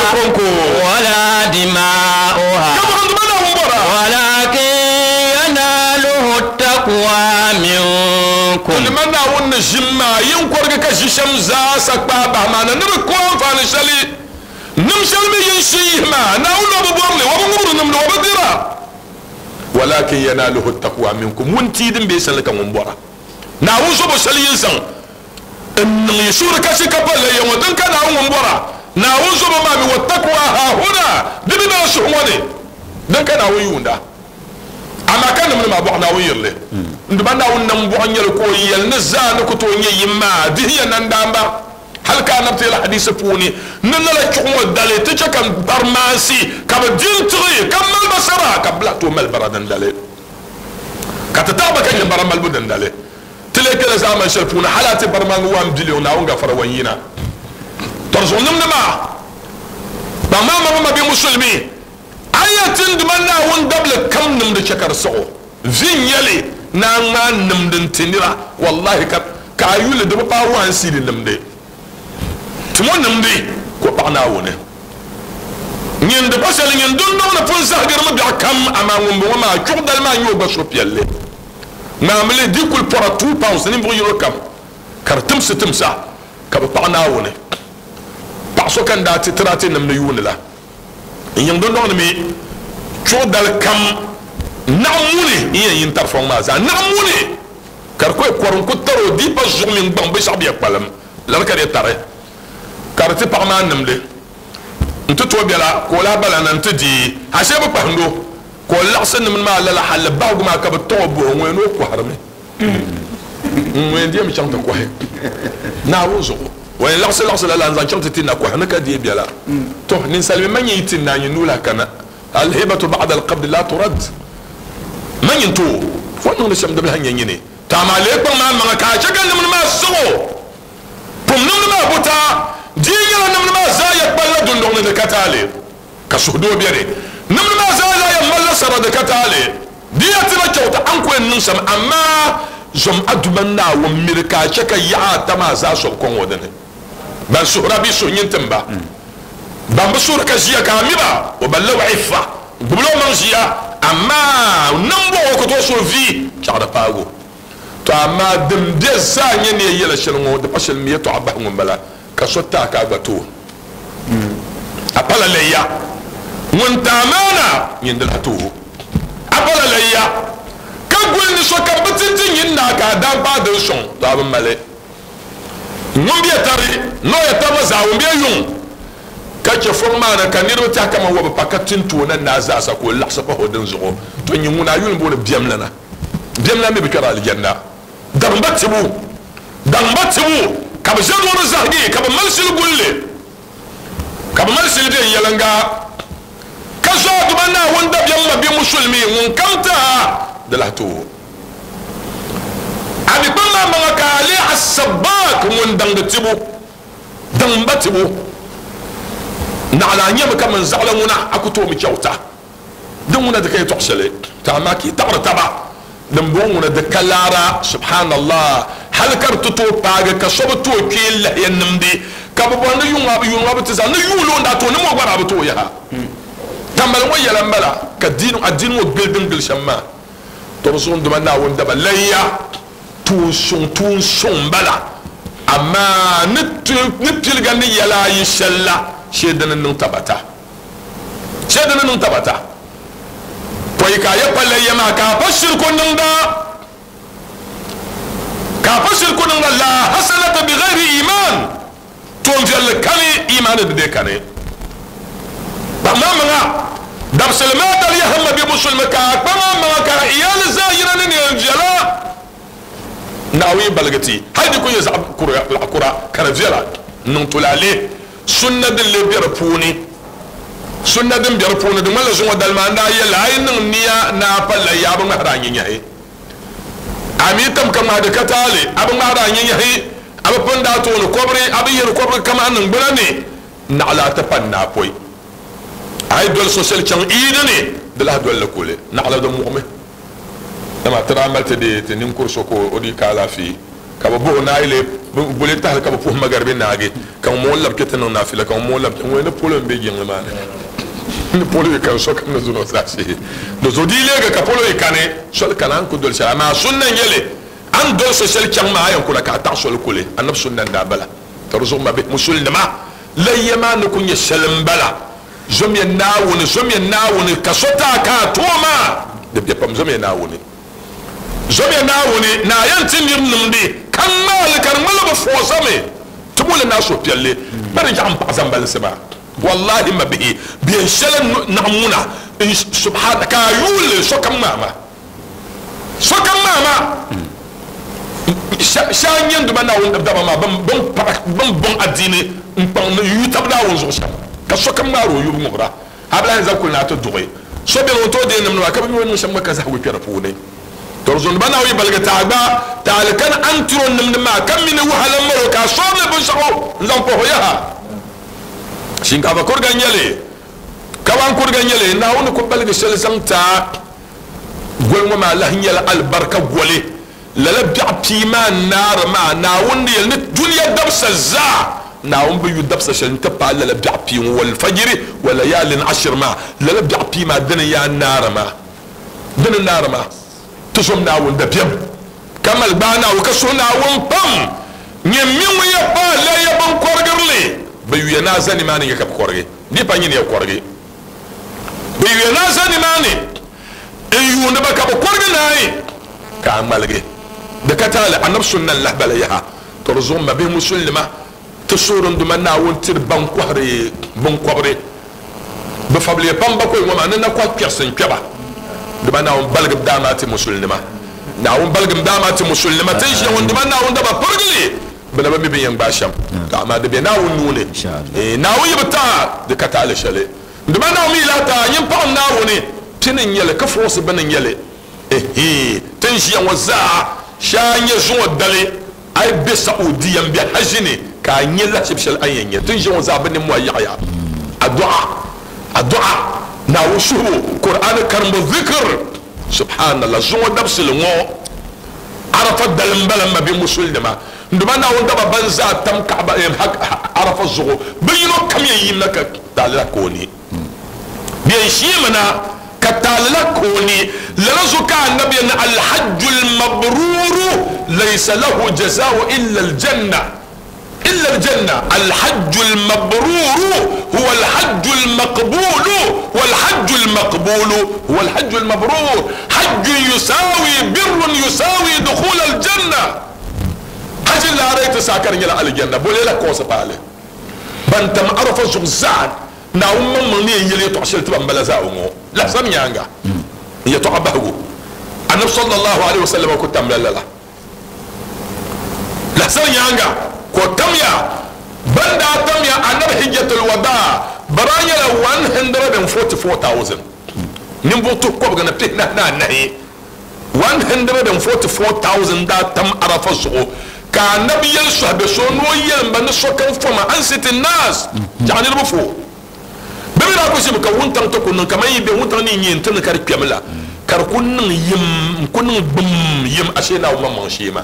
Di kɔŋko. wala dimaa'uha. Ka bɔhindi ba Naawuni bɔra. Walakin yanaluhu taqwa minkum. Di ma Naawuni ni ʒim maa yin kɔrigi ka ʒi shɛm zaasa kpaai bahi maa na ni di ku anfaani shɛli. Nim shɛli mi yin shi yihi maa, Naawuni o bi bɔri li, o bi ŋubiri nimdi, o bi dira. Walakin yanaluhu taqwa minkum, wuntia din be shɛli ka ŋun bɔra. Naawuni zobo shɛli yin zaŋ n-niŋ yi suhuri kasi ka pa la ya ŋɔ, din ka Naawuni ŋun bɔra. Naawuni zobo maa mi, wattaqwa haahuna, di mi bela suhu ŋɔ ni, din ka Naawuni yuunda. Amaa ka nimdi maa bɔɣu Naawuni yiri li. N Duuma Naawuni nambɔɣu n-nyɛ li ka o yɛli ni zaa ni ku tooi nyɛ yim maa dihi ya nandaamba. Hali ka Anabi ti yɛli hadiisi puuni ni lala chuɣu ŋɔ dali ti chɛ ka bari maansi ka bɛ di n-tiɣi ka mali ba sara ka bɛ lahi tooi mali bara dindali ka ti taɣi ba ka nyɛ bara malibu dindali. Ti lee kpɛla zaamani shɛli puuni hali a ti bari maŋgi 1 billion Naawuni gafara wan yina. Tɔri zuɣu nimdi maa kpaŋ maa maŋa mabia musulimi a ya ti n Duuma Naawuni dabili kam nimdi chɛ ka di siɣi o. Vi n-nyɛ li ni a ŋmaai nimdi n-ti nira, wallahi ka ka a yuli di bi paai one cedi nimdi. Ti mo nimdi ka o paɣi Naawuni. Nyin di pa shɛli nyin dundɔŋ ni pun zahigirimi biɛɣu kam, amaa ŋumbɔŋɔ maa chuɣu dali maa n-nyɛ o gba suhupiɛlli. Ŋmaami li di kuli pɔra £2 ninvuɣ yino kam, ka di timsi timsa ka bɛ paɣi Naawuni. Paɣ so ka n daa ti tiri a ti nimdi yuuni la. N yiŋ dundɔŋ ni mi chuɣu dali kam naɣ muni n yɛn yi n-tari fɔŋ maa zaa. Naɣ muni ka di kɔhi kɔri n-ku tar o di pa zuɣu mini gbaŋ binshɛɣu bɛ kpalim lala ka di yɛn tari ka di ti paɣ maa nimdi nti tooi bela ka o lahi bala na nti di ashee bi kpahind o ka o laɣisi nimdi maa lala halli bahigu maa ka bɛ tɔŋ o buhi ŋɔ ni o kɔhirimi. N yɛn deemi chaŋ ti kɔhi Naawuni zuɣu. O yɛn laɣisi laɣisi lala n-zaŋ chaŋ ti ti nakɔhi ni ka deei biɛla. Tɔ! Ninsalimi man yi ti naanyi nuu lahi kana, Al-hibatu ba'da al-qabdi la turad. Man nyin ti o, o ni niŋdi shɛm di bi lahi nyɛ nyini. Tɔ amaa lee kpaŋ maa maŋa ka a chɛ ka nimdi maa siɣ o. Pum nimdi maa buta, di yi nyɛla nimdi maa zaa ya kpalila dundɔŋ ni di ka taali, ka suhudoo beni. Nimdi maa zaa zaa yɛn malila sara di ka taali. Di ya ti ba kyauta a ni ku yɛn niŋ shɛm, amaa zom a Duuma Naawuni miri ka a chɛ ka yaɣa ata maa zaa sobi kɔŋ o dini. Ban suhira bɛ suhu nyin tim ba, ban bi suhiri ka ʒiya ka a mi ba, o balila o iffa, gbibila o maŋ ʒiya, amaa nambɔɣu o ku tooi suhi vi chaɣ di paag o. Tɔ amaa din be zaa nyɛ ni ya yɛla shɛli ŋɔ, di pa shɛli mi yɛtɔɣa bahi ŋun bala ka so ti a ka a gba ti o. A pala layya ŋun ti amaana nyin di lahi ti o. A pala layya ka guli ni sokam bi ti ti nyin naa ka a daa paai din sɔŋ, tɔ a bi mali. Ŋun be tari ni o ya taba zaa ŋun be yuŋ ka chɛ fɔŋ maa ni ka niriba tɛhi kaman wa bi pa ka tin ti o na naa zaasa ka o laɣisi pahi o dinzuɣu, tɔ nyin ŋuna a yuli m-booni biɛmlana. Biɛmlana mi bi kpɛri alijanna. Daŋ ba tibu, daŋ ba tibu, ka bɛ ʒe duɣuri zahigi, ka bɛ mali shili guli li, ka bɛ mali shili viɛnyɛliŋga, ka zo a Duuma Naawuni dabiɛm ma bɛ Musulimi ŋun kam ti a, di lahi ti o. A mi kpaŋ maa maŋa ka a leei As-Sabbaak, ŋun daŋdi tibu, daŋ ba tibu. Naɣila a nyami kaman zaɣila ŋuna, a ku tooi mi chɛuta. Din ŋuna di ka yɛtɔɣ shɛli, tɔ amaa ka yi taɣiri taba. Din bɔŋɔ ŋuna di ka laara, subhanallah, hali ka di ti tooi paagi ka so bi tooi kpee lahiya nimdi, ka bɛ bɔri ni yuŋ a bi yuŋ a bi ti zaŋ ni yuuli o ni daa tooi ni ŋɔ gba daa bi tooi yaha. Tambali ŋɔ yɛla m-bala ka diini adiini ŋɔ gili din gili shɛm maa. Tɔ di zuɣu n Duuma Naawuni daba lahiya tuun suŋ tuun suŋ m-bala, amaa ni ni piliga ni yɛla ayi shɛli la shee dini niŋ tabata. Chɛ di ni niŋ tabata pɔi ka a yɛ palli ya maa ka a pa shiriku niŋda, ka a pa shiriku niŋda, la hasanata bi ghayri iman, toonviɛlli kani imaani di dee kani. Kpaŋ a maŋa dabisili maa dali yaha ma bɛ musulimi ka a kpaŋ a maŋa ka a iyali zaa yina ni neen viɛla. Naawuni yi baligi ti hali di ku nyɛ zaɣ kura ka di viɛla n-niŋ tulaale. Sunna din lee be di puuni. Sunna din be di puuni di ŋmanila zuŋɔ dali maa n daa yɛli a yi niŋ nia ni a palila yaa bi ŋmahiri a nyinyahi. A mi tam ka ŋmahi di ka taali, a bi ŋmahiri a nyinyahi, a bi pindi a tooni kɔbiri, a bi yihiri kɔbiri kaman niŋgbuna ni naɣila a ti pa n-naai pɔi. A yi doli so shɛli chaŋ Iidi ni, di lahi doli li kuli naɣila di muɣimi. Dama ti daa mali ti deei ti ninkuri so ka o di ka alaafee, ka bɛ bɔh o ni a yi lee boli tahili ka bɛ puhi magaribi naagi, ka ŋun ŋɔ labi kpe ti niŋ naafila, ka ŋun ŋɔ labi kpe, ŋun ni polo m-be jiŋli maa ni, ni polo yi kani sokam ni zuni o zaashee. Di zuɣu di yi leegi ka polo yi kani, soli kani a ni ku doli shɛli, amaa sunna n-nyɛ li, a ni doli so shɛli chaŋ maa a yɛn kula ka a taɣi soli kuli, Anabi sunna n-daa bala. Ka di zuɣu mabihi musulinima, layya maa ni ku nyɛ shɛli m-bala. Zomiya Naawuni, zomiya Naawuni, ka so ti a ka a tooi maa, di be pam. Zomiya Naawuni, zomiya Naawuni, ni a yɛn ti nir nimdi, ka ŋmaa li ka di ŋmanila bɛ fɔɔsami ti bo li ni a suhupiɛlli. Kpa di yaɣim paɣ zambalinsi maa. Wallahi mabihi, biɛn shɛli naɣ ŋuna n subhana ka a yuui li sokam ŋmaa ma. Sokam ŋmaa ma. Shɛha n-nyɛ n Duuma Naawuni daba maa bɛn bɔŋ adiini n-kpaŋ ni yu tab Naawuni zuɣu shɛm, ka sokam ŋmaari o yubu ŋubira. A bi lahi zaŋ kuli ni a ti duɣi so beni o ni tooi deei nimdi maa, ka bi mi o ni niŋ shɛm gba ka zahigu kpe di puuni. Tɔ di zuɣu ni ba Naawuni yi baligi ti a gba taali kani a ni tiri o nimdi maa, ka mi ni wahala m-mali o ka a sɔrili binshɛɣu n-zaŋ pahi o yaha. Shinkaafa kuriga n-nyɛ li, kawan kuriga n-nyɛ li, Naawuni ku baligi shɛli zaŋ ti a. Goli ŋɔ maa lahi nyɛla alibarika goli. Lala biɛɣu pii maa n-naari maa, Naawuni ni yɛli ni dunia dabisa zaa, Naawuni bi yu dabisa shɛli nti paai lala biɛɣu pii ŋɔ, walfajiri wa layaalin ashir maa, lala biɛɣu pii maa dini n-yaa naari maa, dini n-naari maa. Ti zom Naawuni dabiɛm, ka mali gbaai Naawuni, ka suhi Naawuni pam. Nyɛ m mi ŋun ya paai laya binkɔrigiri li, bɛ yuya ni a za nimaani n-nyɛ ka bɛ kɔrigi, di pa nyini ya kɔrigi. Bɛ yuya ni a za nimaani n-yuuni ba ka bɛ kɔrigi naai, ka a ŋmaligi di ka taali Anabi sunna n-lahi bala yaha. Tɔ di zuɣu m mabihi Musulinima, ti suhiri n Duuma Naawuni tiri ban kɔhiri binkɔbiri bɛ fabiliya pam bakɔi ŋɔ maa ni na kɔhi kpɛrisi n-kpe ba. Duuma Naawuni baligim daa maa ti Musulinima. Naawuni baligim daa maa ti Musulinima. Ti ni ʒiya ŋɔ n Duuma Naawuni daba pirigi li. Bɛ na bi mi bɛ ni yɛn gbaai shɛm, tɔ amaa di be Naawuni nuu ni. Naawuni yi bi taai, di ka taali shɛli. Dama Naawuni mi yi lahi taai, nyin paɣim Naawuni, pini n-nyɛ li, ka fuɣisi bini n-nyɛ li. Ehe, ti ni ʒiya ŋɔ zaa, shee a nya zuŋɔ dali, a yi be Saudiya m-be Haji ni, ka a nya lahiʒib shɛli a ni yɛn nya. Ti ni ʒiya ŋɔ zaa, bɛ nimmɔhi yaɣiya. Adu'a, adu'a, Naawuni suhibu, Kur'aani karimbu, zikr. Subhanallah, zuŋɔ dabisili ŋɔ Arafa dali m-bala m mabi musulinima. N-duma Naawuni daba ban zaa tam Kaaba, Arafa zuɣu, bɛ yino kam yɛn yimina ka taalila ka o ni. Bɛ yɛn sheemina ka taalila ka o ni. Lala zuɣu ka Annabi yɛli ni, Alhajju lmabruru laysa lahu jazaa'u illa aljanna. Illa aljanna. Alhajju lmabruru huwa alhajju lmaqbulu walhajju lmaqbulu huwa alhajju lmabrur. Hajjun yusawi birrun yusawi dukhul aljanna. Hajji laara yi ti saha ka di nyɛla aljanna, bole la kɔɔsi paali. Ban tam Arafa zuɣu zaa, Naawuni maŋmaŋ ni yɛn yɛli yɛtɔɣ shɛli ti ba m-bala zaa ŋɔ lahasam nyaaŋa. N yɛtɔɣa bahigu, Anabi sallallahu alaihi wasallam ku tamla lala. Lahasam nyaaŋa ka o tamya. Ban daa tamya Anabi Hijjatul Wadaa bɛ daa nyɛla 144,000 ninvuɣ tuhi kɔbiga ni pihinahi ni anahi. 144,000 daa tam Arafa zuɣu ka Anabi yɛli sɔhibe so ni o yɛlim ba ni sokam foma ansiti naas, chaɣ niriba fo. Bɛ mi daa ku ʒimi ka wuntaŋ ti ku niŋ kaman yi be wuntaŋ ni nyɛ n-ti ni ka di kpɛm la, ka di ku niŋ yim n-ku niŋ gbum yim ashee Naawuni maŋmaŋ shee maa.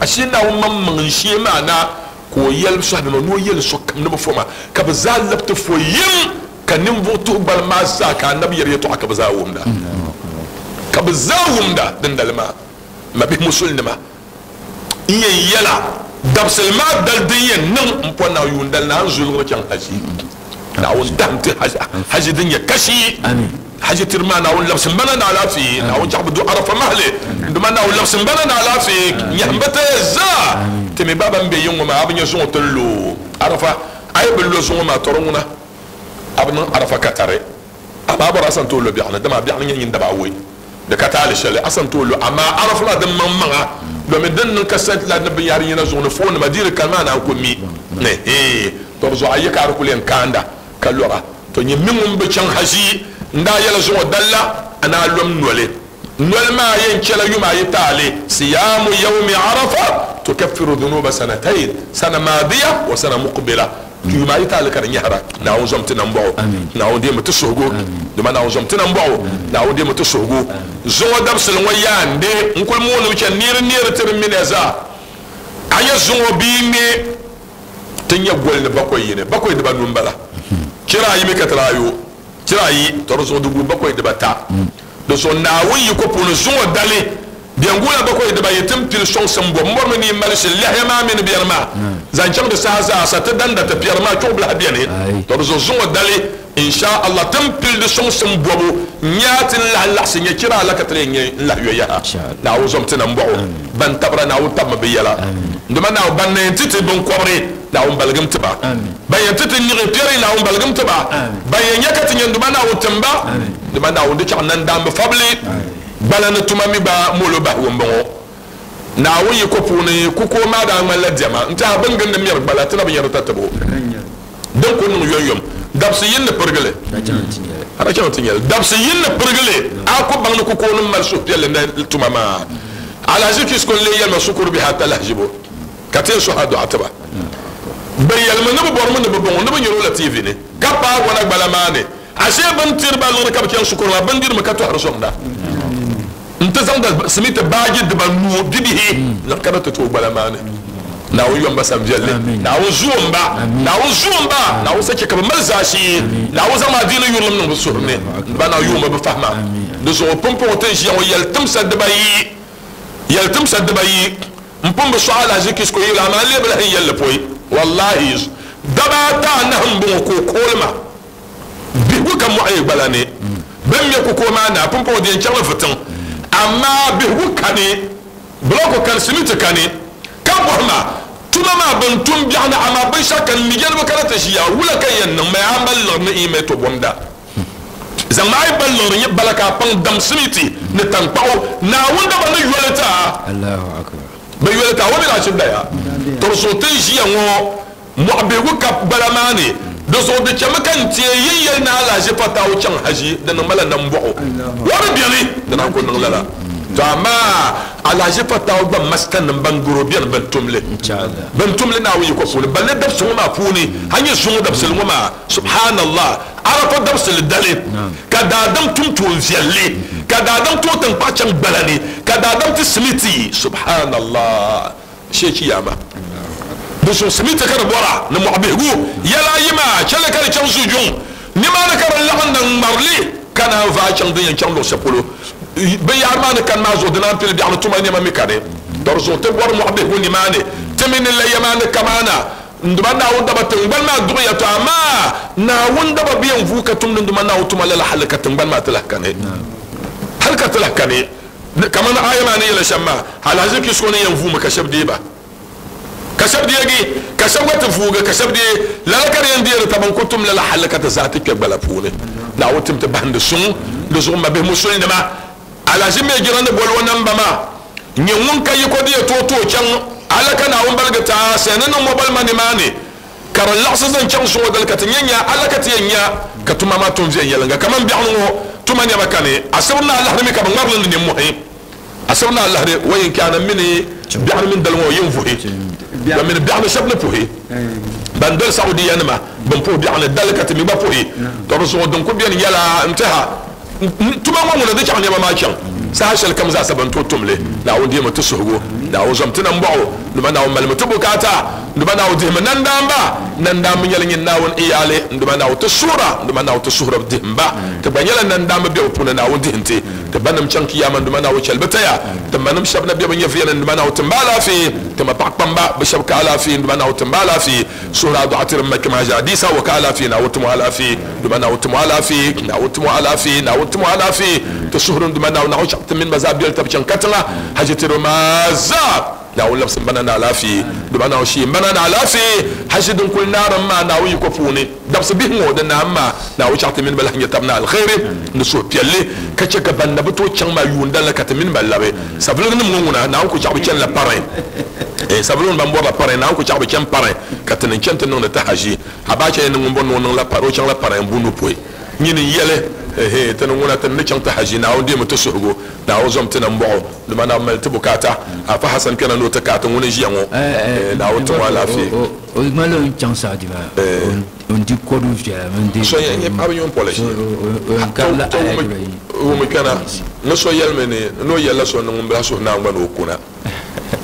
Ashee Naawuni maŋmaŋ n-shee maa na ka o yɛli sɔhibe maa ni o yɛli sokam ni bɛ foma ka bɛ zaa lab ti fo yim. Ka ninvuɣ tuhi gbali maa zaa ka anabi yɛri yɛtɔɣa ka bɛ zaa wumda. Ka bɛ zaa wumda dindali maa. Mabihi musulinima, n yɛn yɛla dabisili maa dali din yɛn niŋ m pɔ naɣ yuun dali naa n zuliɣiri chaŋ haji. Naawuni dahim ti haji din nyɛ kashi. Haji tiri maa Naawuni labisi m ba na ni alaafee. Naawuni chaɣ bi du Arafa mahili. N duma Naawuni labisi m ba na ni alaafee. Nyɛhim bi taya zaa. Ti mi ba ban be yiŋ ŋɔ maa a bi nya zuŋɔ ti lu Arafa. A yi bi lo zuŋɔ maa tɔri ŋuna. A bi niŋ Arafa ka tari, amaa bɔri a san tooi lo biɛɣuni, dama biɛɣuni nyɛ nyin daba awoi di ka taali shɛli a san tooi lo, amaa Arafa maa din maŋmaŋa domin din niŋ ka satellite ni binyahari yina zuɣu ni foonnima dii di kani maa naan ku mi ni hee to di zuɣu a yi ka a di kuli yɛn kaanda ka lɔra. To nyin mi ŋun bi chaŋ haʒi n-daa yɛla zuŋɔ dali la a ni a lom noli. Noli maa yɛn chɛla yuma ayi taali, siyaamu yawmi Arafa tukaffiru dhunuba sanatayn, sana maadiya wa sana muqbila. Yuma ayi taali ka di nyɛhira. Naawuni zom ti nambɔɣu. Naawuni deemi ti suhigu. Dama Naawuni zom ti nambɔɣu. Naawuni deemi ti suhigu. Zuŋɔ dabisili ŋɔ yaa n-di n kuli moonimi chani neeri neeri ti di mini ya zaa. A nya zuŋɔ bia ŋme ti nya goli ni bakɔi yini, bakɔi dibanu m-bala. Chira ayi mi ka ti daa yo. Chira ayi, tɔ di zuɣu di guui bakɔi dibata. Di zuɣu Naawuni yiko puuni zuŋɔ dali, biɛŋguula bakɔi dibayi ti ni pili sɔŋsim bɔbu. M bɔrimi ni yi mali shili lɛhiya maa mini biɛri maa zaŋ chaŋ di saha zaa sa. Ti danda ti piɛri maa chuɣu bilahi beni. Tɔ di zuɣu zuŋɔ dali, in sha Allah, ti ni pili di sɔŋsim bɔbu n-nya ti ni lahi laɣisi nya chira ala ka ti lee nya n-lahi yo yaha. Naawuni zom ti nambɔɣu. Ban tabira Naawuni tabimi bɛ yɛla. Dama Naawuni ban na yɛn ti ti biŋkɔbiri, Naawuni baligim ti ba. Ban yɛn ti ti niɣi piɛri, Naawuni baligim ti ba. Ban yɛn nya ka ti nya n-duma Naawuni tim ba. Dama Naawuni di chaɣ nandaamba fabili gbala ni tuma mi gba molo bahigu m-bɔŋɔ. Naawuni yiko puuni kukuo maa daa ŋmanila diɛma n-tɛha bɛ ni gindi mɛri gbala ti na bi nya di tatabo. Din ku niŋ yomyom dabisi yini ni pirigili, a daa chaŋ ti nya li. Dabisi yini ni pirigili, a ku baŋ ni kukuo nim mali suhupiɛlli ni tuma maa. Alhaji Kisko n-lee yɛli ma shikuru bihi ata lahiʒibu ka ti yɛn suhi a dɔɣa ti ba. Bɛ yɛlimi ni bɛ bɔrimi ni bɛ baŋ o ni bɛ nyari o la TV ni ka paai wana gbala maa ni. Ashee bɛ ni tiri ba liɣiri ka bɛ chaŋ shikuru maa, bindirimi ka tɔhiri sɔŋda nti zaŋda simiti baaji dibanu bibihi niŋ ka di ti tooi gbala maa ni. Naawuni yom ba sam viɛlli. Naawuni zuo m-ba. Naawuni zuo m-ba. Naawuni sa chɛ ka bɛ mali zaashee. Naawuni zaŋm adiini yurilim niŋ bɛ suhuri ni. Ba na yuuma bɛ fahima. Di zuɣu pumpɔŋɔ ti ni ʒiya ŋɔ yɛlitimsa dibayi. Yɛlitimsa dibayi. M pun bi sɔɣi alahizichi Kisko yili, amaa n lee bi lahi yɛli li pɔi. Wallahi, daba ata anahi m-bɔŋɔ ka o kooli ma. Bihigu ka mɔɣu yi gbala ni. Bɛ ni ŋme kukuo maa naai, pumpɔŋɔ di yɛn chaŋla fitiŋ. Amaa bihigu kani, bulɔku kani, simiti kani. Ka bɔhi ma, Tuma maa bɛn tum biɛɣu ni, amaa binshɛɣu kani, mi yɛlibu kana ti ʒiya, wula ka n yɛn niŋ? Maya a mali liɣiri ni n yi mali to bɔmda. Zaŋmi a yi ba liɣiri nyɛ bala ka a paŋ dam simiti ni taŋkpaɣu. Naawuni daba ni yoli ti a. Bɛ yoli ti a, o mi daa chɛ daya. Tɔri zuɣu ti ni ʒiya ŋɔ mɔɣu bihigu ka bala maa ni. Di zuɣu di chɛmi ka n teei yi yɛli ni alahiʒi Fatawu chaŋ haʒi, di niŋ ma la nambɔɣu. O bi beni, di naan ku niŋ lala. To amaa alahaji fatawu gba mastanima ban gari o beni ban tum li. Ban tum li Naawuni yiko puuni. Balle dabisi ŋɔ maa puuni, a nya zuŋɔ dabisili ŋɔ maa, subhanallah, Arafa dabisili dali, ka daadam tum tuun viɛlli, ka daadam tooi taŋkpaɣu chaŋ gbala ni, ka daadam ti simiti, subhanallah, shee chiyaama. Di zuɣu simiti ka di bɔra ni mɔɣu bihigu yɛla ayi maa, chɛli ka di chaŋ zujuŋ nimaani ka di laɣim na ŋ-ŋmari li ka naan vaai chaŋ din yɛn chaŋ luɣ shɛli polo. Binyahari maa ni kani maa zuɣu di naan pili biɛɣu ni tuma nɛma mi kani. Di zuɣu ti bɔri mɔɣu bihigu nimaani ti mi ni laya maa ni kamaana n-duma Naawuni daba tiŋgbani maa duɣiya. Tɔ amaa Naawuni daba bi yɛn vuui ka tumdi n-duma Naawuni tuma lala hali ka tiŋgbani maa ti lahi kani. Hali ka ti lahi kani. Kamani aaya maa ni yɛli shɛm maa, alahiziba kpisiko ni yɛn vuumi ka shɛba deei ba, ka shɛba deegi, ka shɛba gba ti vuugi, ka shɛba deei. Lala ka di yɛn deeri taba n-ku tum lala hali ka ti zaa ti kpe gbala puuni. Naawuni tim ti bahindi suŋ di zuɣu mabihi musulinima. Alahiziba mi jira ni boli o namba maa nyɛ ŋun ka yiko di yɛn tooi tooi chaŋ alaka Naawuni baligi ti a sani ni mobile money maa ni ka di laɣisi zaŋ chaŋ suŋɔ dali ka ti nya nya alaka ti yɛn nya ka tuma maa tum viɛnyɛliŋga kaman biɛɣuni ŋɔ tuma nɛma kani asibiri ni alahiri mi ka bɛ ŋmarili ni nimmɔhi asibiri ni alahiri wa yin kana mini biɛɣuni mini dali ŋɔ yin vuhi ba mini biɛɣuni shɛba ni puhi ban doli Saudiya nima bin puhi biɛɣuni dali ka ti mi gba puhi tɔ di zuɣu din ku beni nyɛla n tɛha Tuma ŋɔ ŋuna di chaŋ nɛma maa chaŋ saha shɛli kam zaasa bɛn tooi tum li. Naawuni dihimi ti suhigu. Naawuni zom ti nambɔɣu. Nduba Naawuni malimi ti bukaata. Nduba Naawuni dihimi nandaamba. Nandaamba nyɛla nyin Naawuni iyaali. Nduba Naawuni ti suhira. Nduba Naawuni ti suhiri dihim ba. Ti gba nyɛla nandaamba bebu puuni. Naawuni dihim ti. Ti banim chaŋ kiyama. Nduba Naawuni chɛli bɛ taya. Ti manim shɛba na be bɛ nyɛvuya ni. Nduba Naawuni tim ba alaafee. Ti ma paɣ kpamba bɛ shɛba ka alaafee. Nduba Naawuni tim ba alaafee. Suhuri a dɔɣa tiri m ma kpɛma ʒe Adiisa wa ka alaafee Naawuni ti mo alaafee Duuma Naawuni ti mo alaafee Naawuni ti mo alaafee Naawuni ti mo alaafee Ti suhuri n Duuma Naawuni Naawuni chaɣ ti mini ba zaa biɛli tab chaŋ katiŋa Haji tiri maa zaa Naawuni labisi m ba na ni alaafee Duuma Naawuni shee m ba na ni alaafee Haji din kuli naari m ma Naawuni yiko puuni dabisi bihi ŋɔ di naai m ma Naawuni chaɣ ti mini ba lahi nya tab ni alkhairi ni suhupiɛlli ka che ka ban na bi tooi chaŋ maa yuun dali ka ti mini ba labi Savelugu nim ŋɔ ŋuna Naawuni ku chaɣ bi chanila pari Eh Savelugu nim ban bɔrila pari Naawuni ku chaɣ bi chani pari ka ti ni chani ti niŋdi ti haʒi Abacha yɛn ni ŋun bɔri ni o niŋla pari o chaŋla pari n bu nu pɔi nyini n yɛli Ehe ti ni ŋuna ti ni ni chaŋ ti haʒi Naawuni deemi ti suhigu Naawuni zom ti nambɔɣu dama Naawuni mali ti bukaata Afa Hassan kpɛna ni o ti kaati ŋuni n ʒiya ŋɔ Eh Naawuni ti mo alaafee. O ŋmanila o ni chaŋ Saudi maa o ni di kɔdu viɛla mini di So yɛn nyɛ paɣaba yuun polish o yɛn karila to aya dibayi. wumi kpɛna ni so yɛlimi ni ni o yɛlila so ni ŋun bila suhu Naawuni gba ni o kuna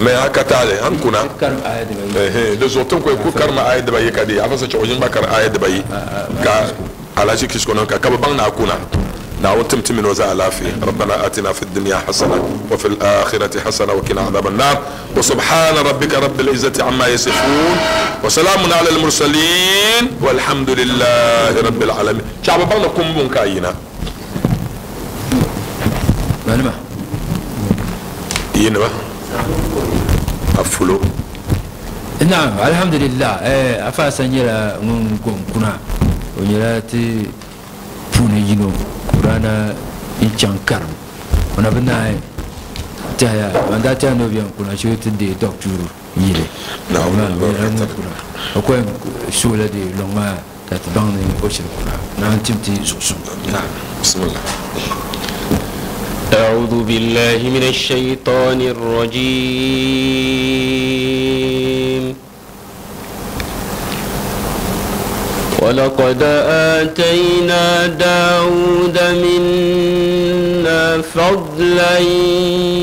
mɛ a ka taali a ni kuna Karim aya dibayi. Ehe di zuɣu ti ni ku karima aya dibayi ka di afa sa chɛ o ʒini gba kari aya dibayi ka alahichi kisko niŋ ka ka bi baŋ ni a kuna Naawuni tim ti mini o zaa alaafee Rabbana atina fi dunya hasana wa fil akhirati hasana wa qina adhaban nar wa subhana rabbika rabbil izzati amma yasifun wa salamun ala al mursalin walhamdulillahi rabbil alamin chɛ a bi baŋ ni kumbuŋ ka a yina. Balima. Yinima a fulo. Naam, alhamdulillah, eh, Afa Hassan nyɛla ŋun gom kuna. O nyɛla ti puuni yino Kurana n-chaŋ karim. O na bi naai tɛhiya, ban daa tɛhi ni o bɛn kuna shee ti deei dɔktuuru yili. Naawuni Amaa o nyɛla ŋun albarka. kuna. O ko yɛn soola deei luŋ maa ka ti baŋ ni o shiri kuna. Naawuni tim ti zuɣusuŋ. Naam, bismillah. أعوذ بالله من الشيطان الرجيم ولقد آتينا داود منا فضلا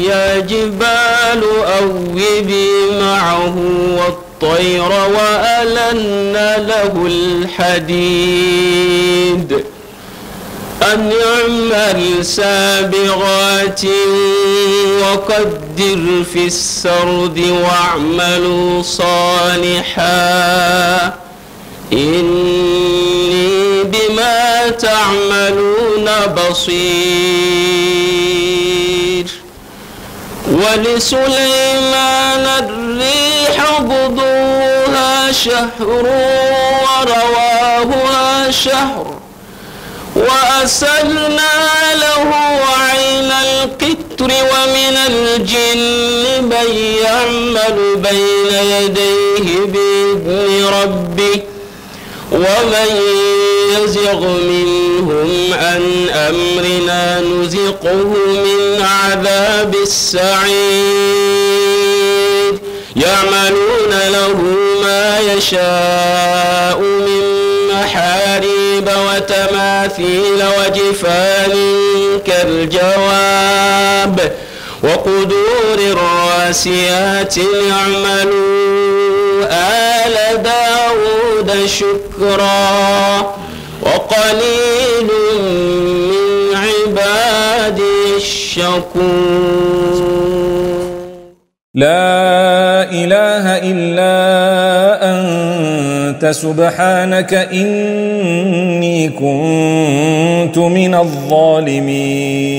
يا جبال أوبي معه والطير وألنا له الحديد أن اعمل سابغات وقدر في السرد واعملوا صالحا إني بما تعملون بصير ولسليمان الريح غدوها شهر ورواهها شهر وأسلنا له عين القطر ومن الجن من يعمل بين يديه بإذن ربه ومن يزغ منهم عن أمرنا نزقه من عذاب السعير. يعملون له ما يشاء من محاريب وتماثيل وجفان كالجواب وقدور الراسيات. اعملوا آل داود شكرا وقليل من عبادي الشكور. لا إله إلا أنت سبحانك إني كنت من الظالمين.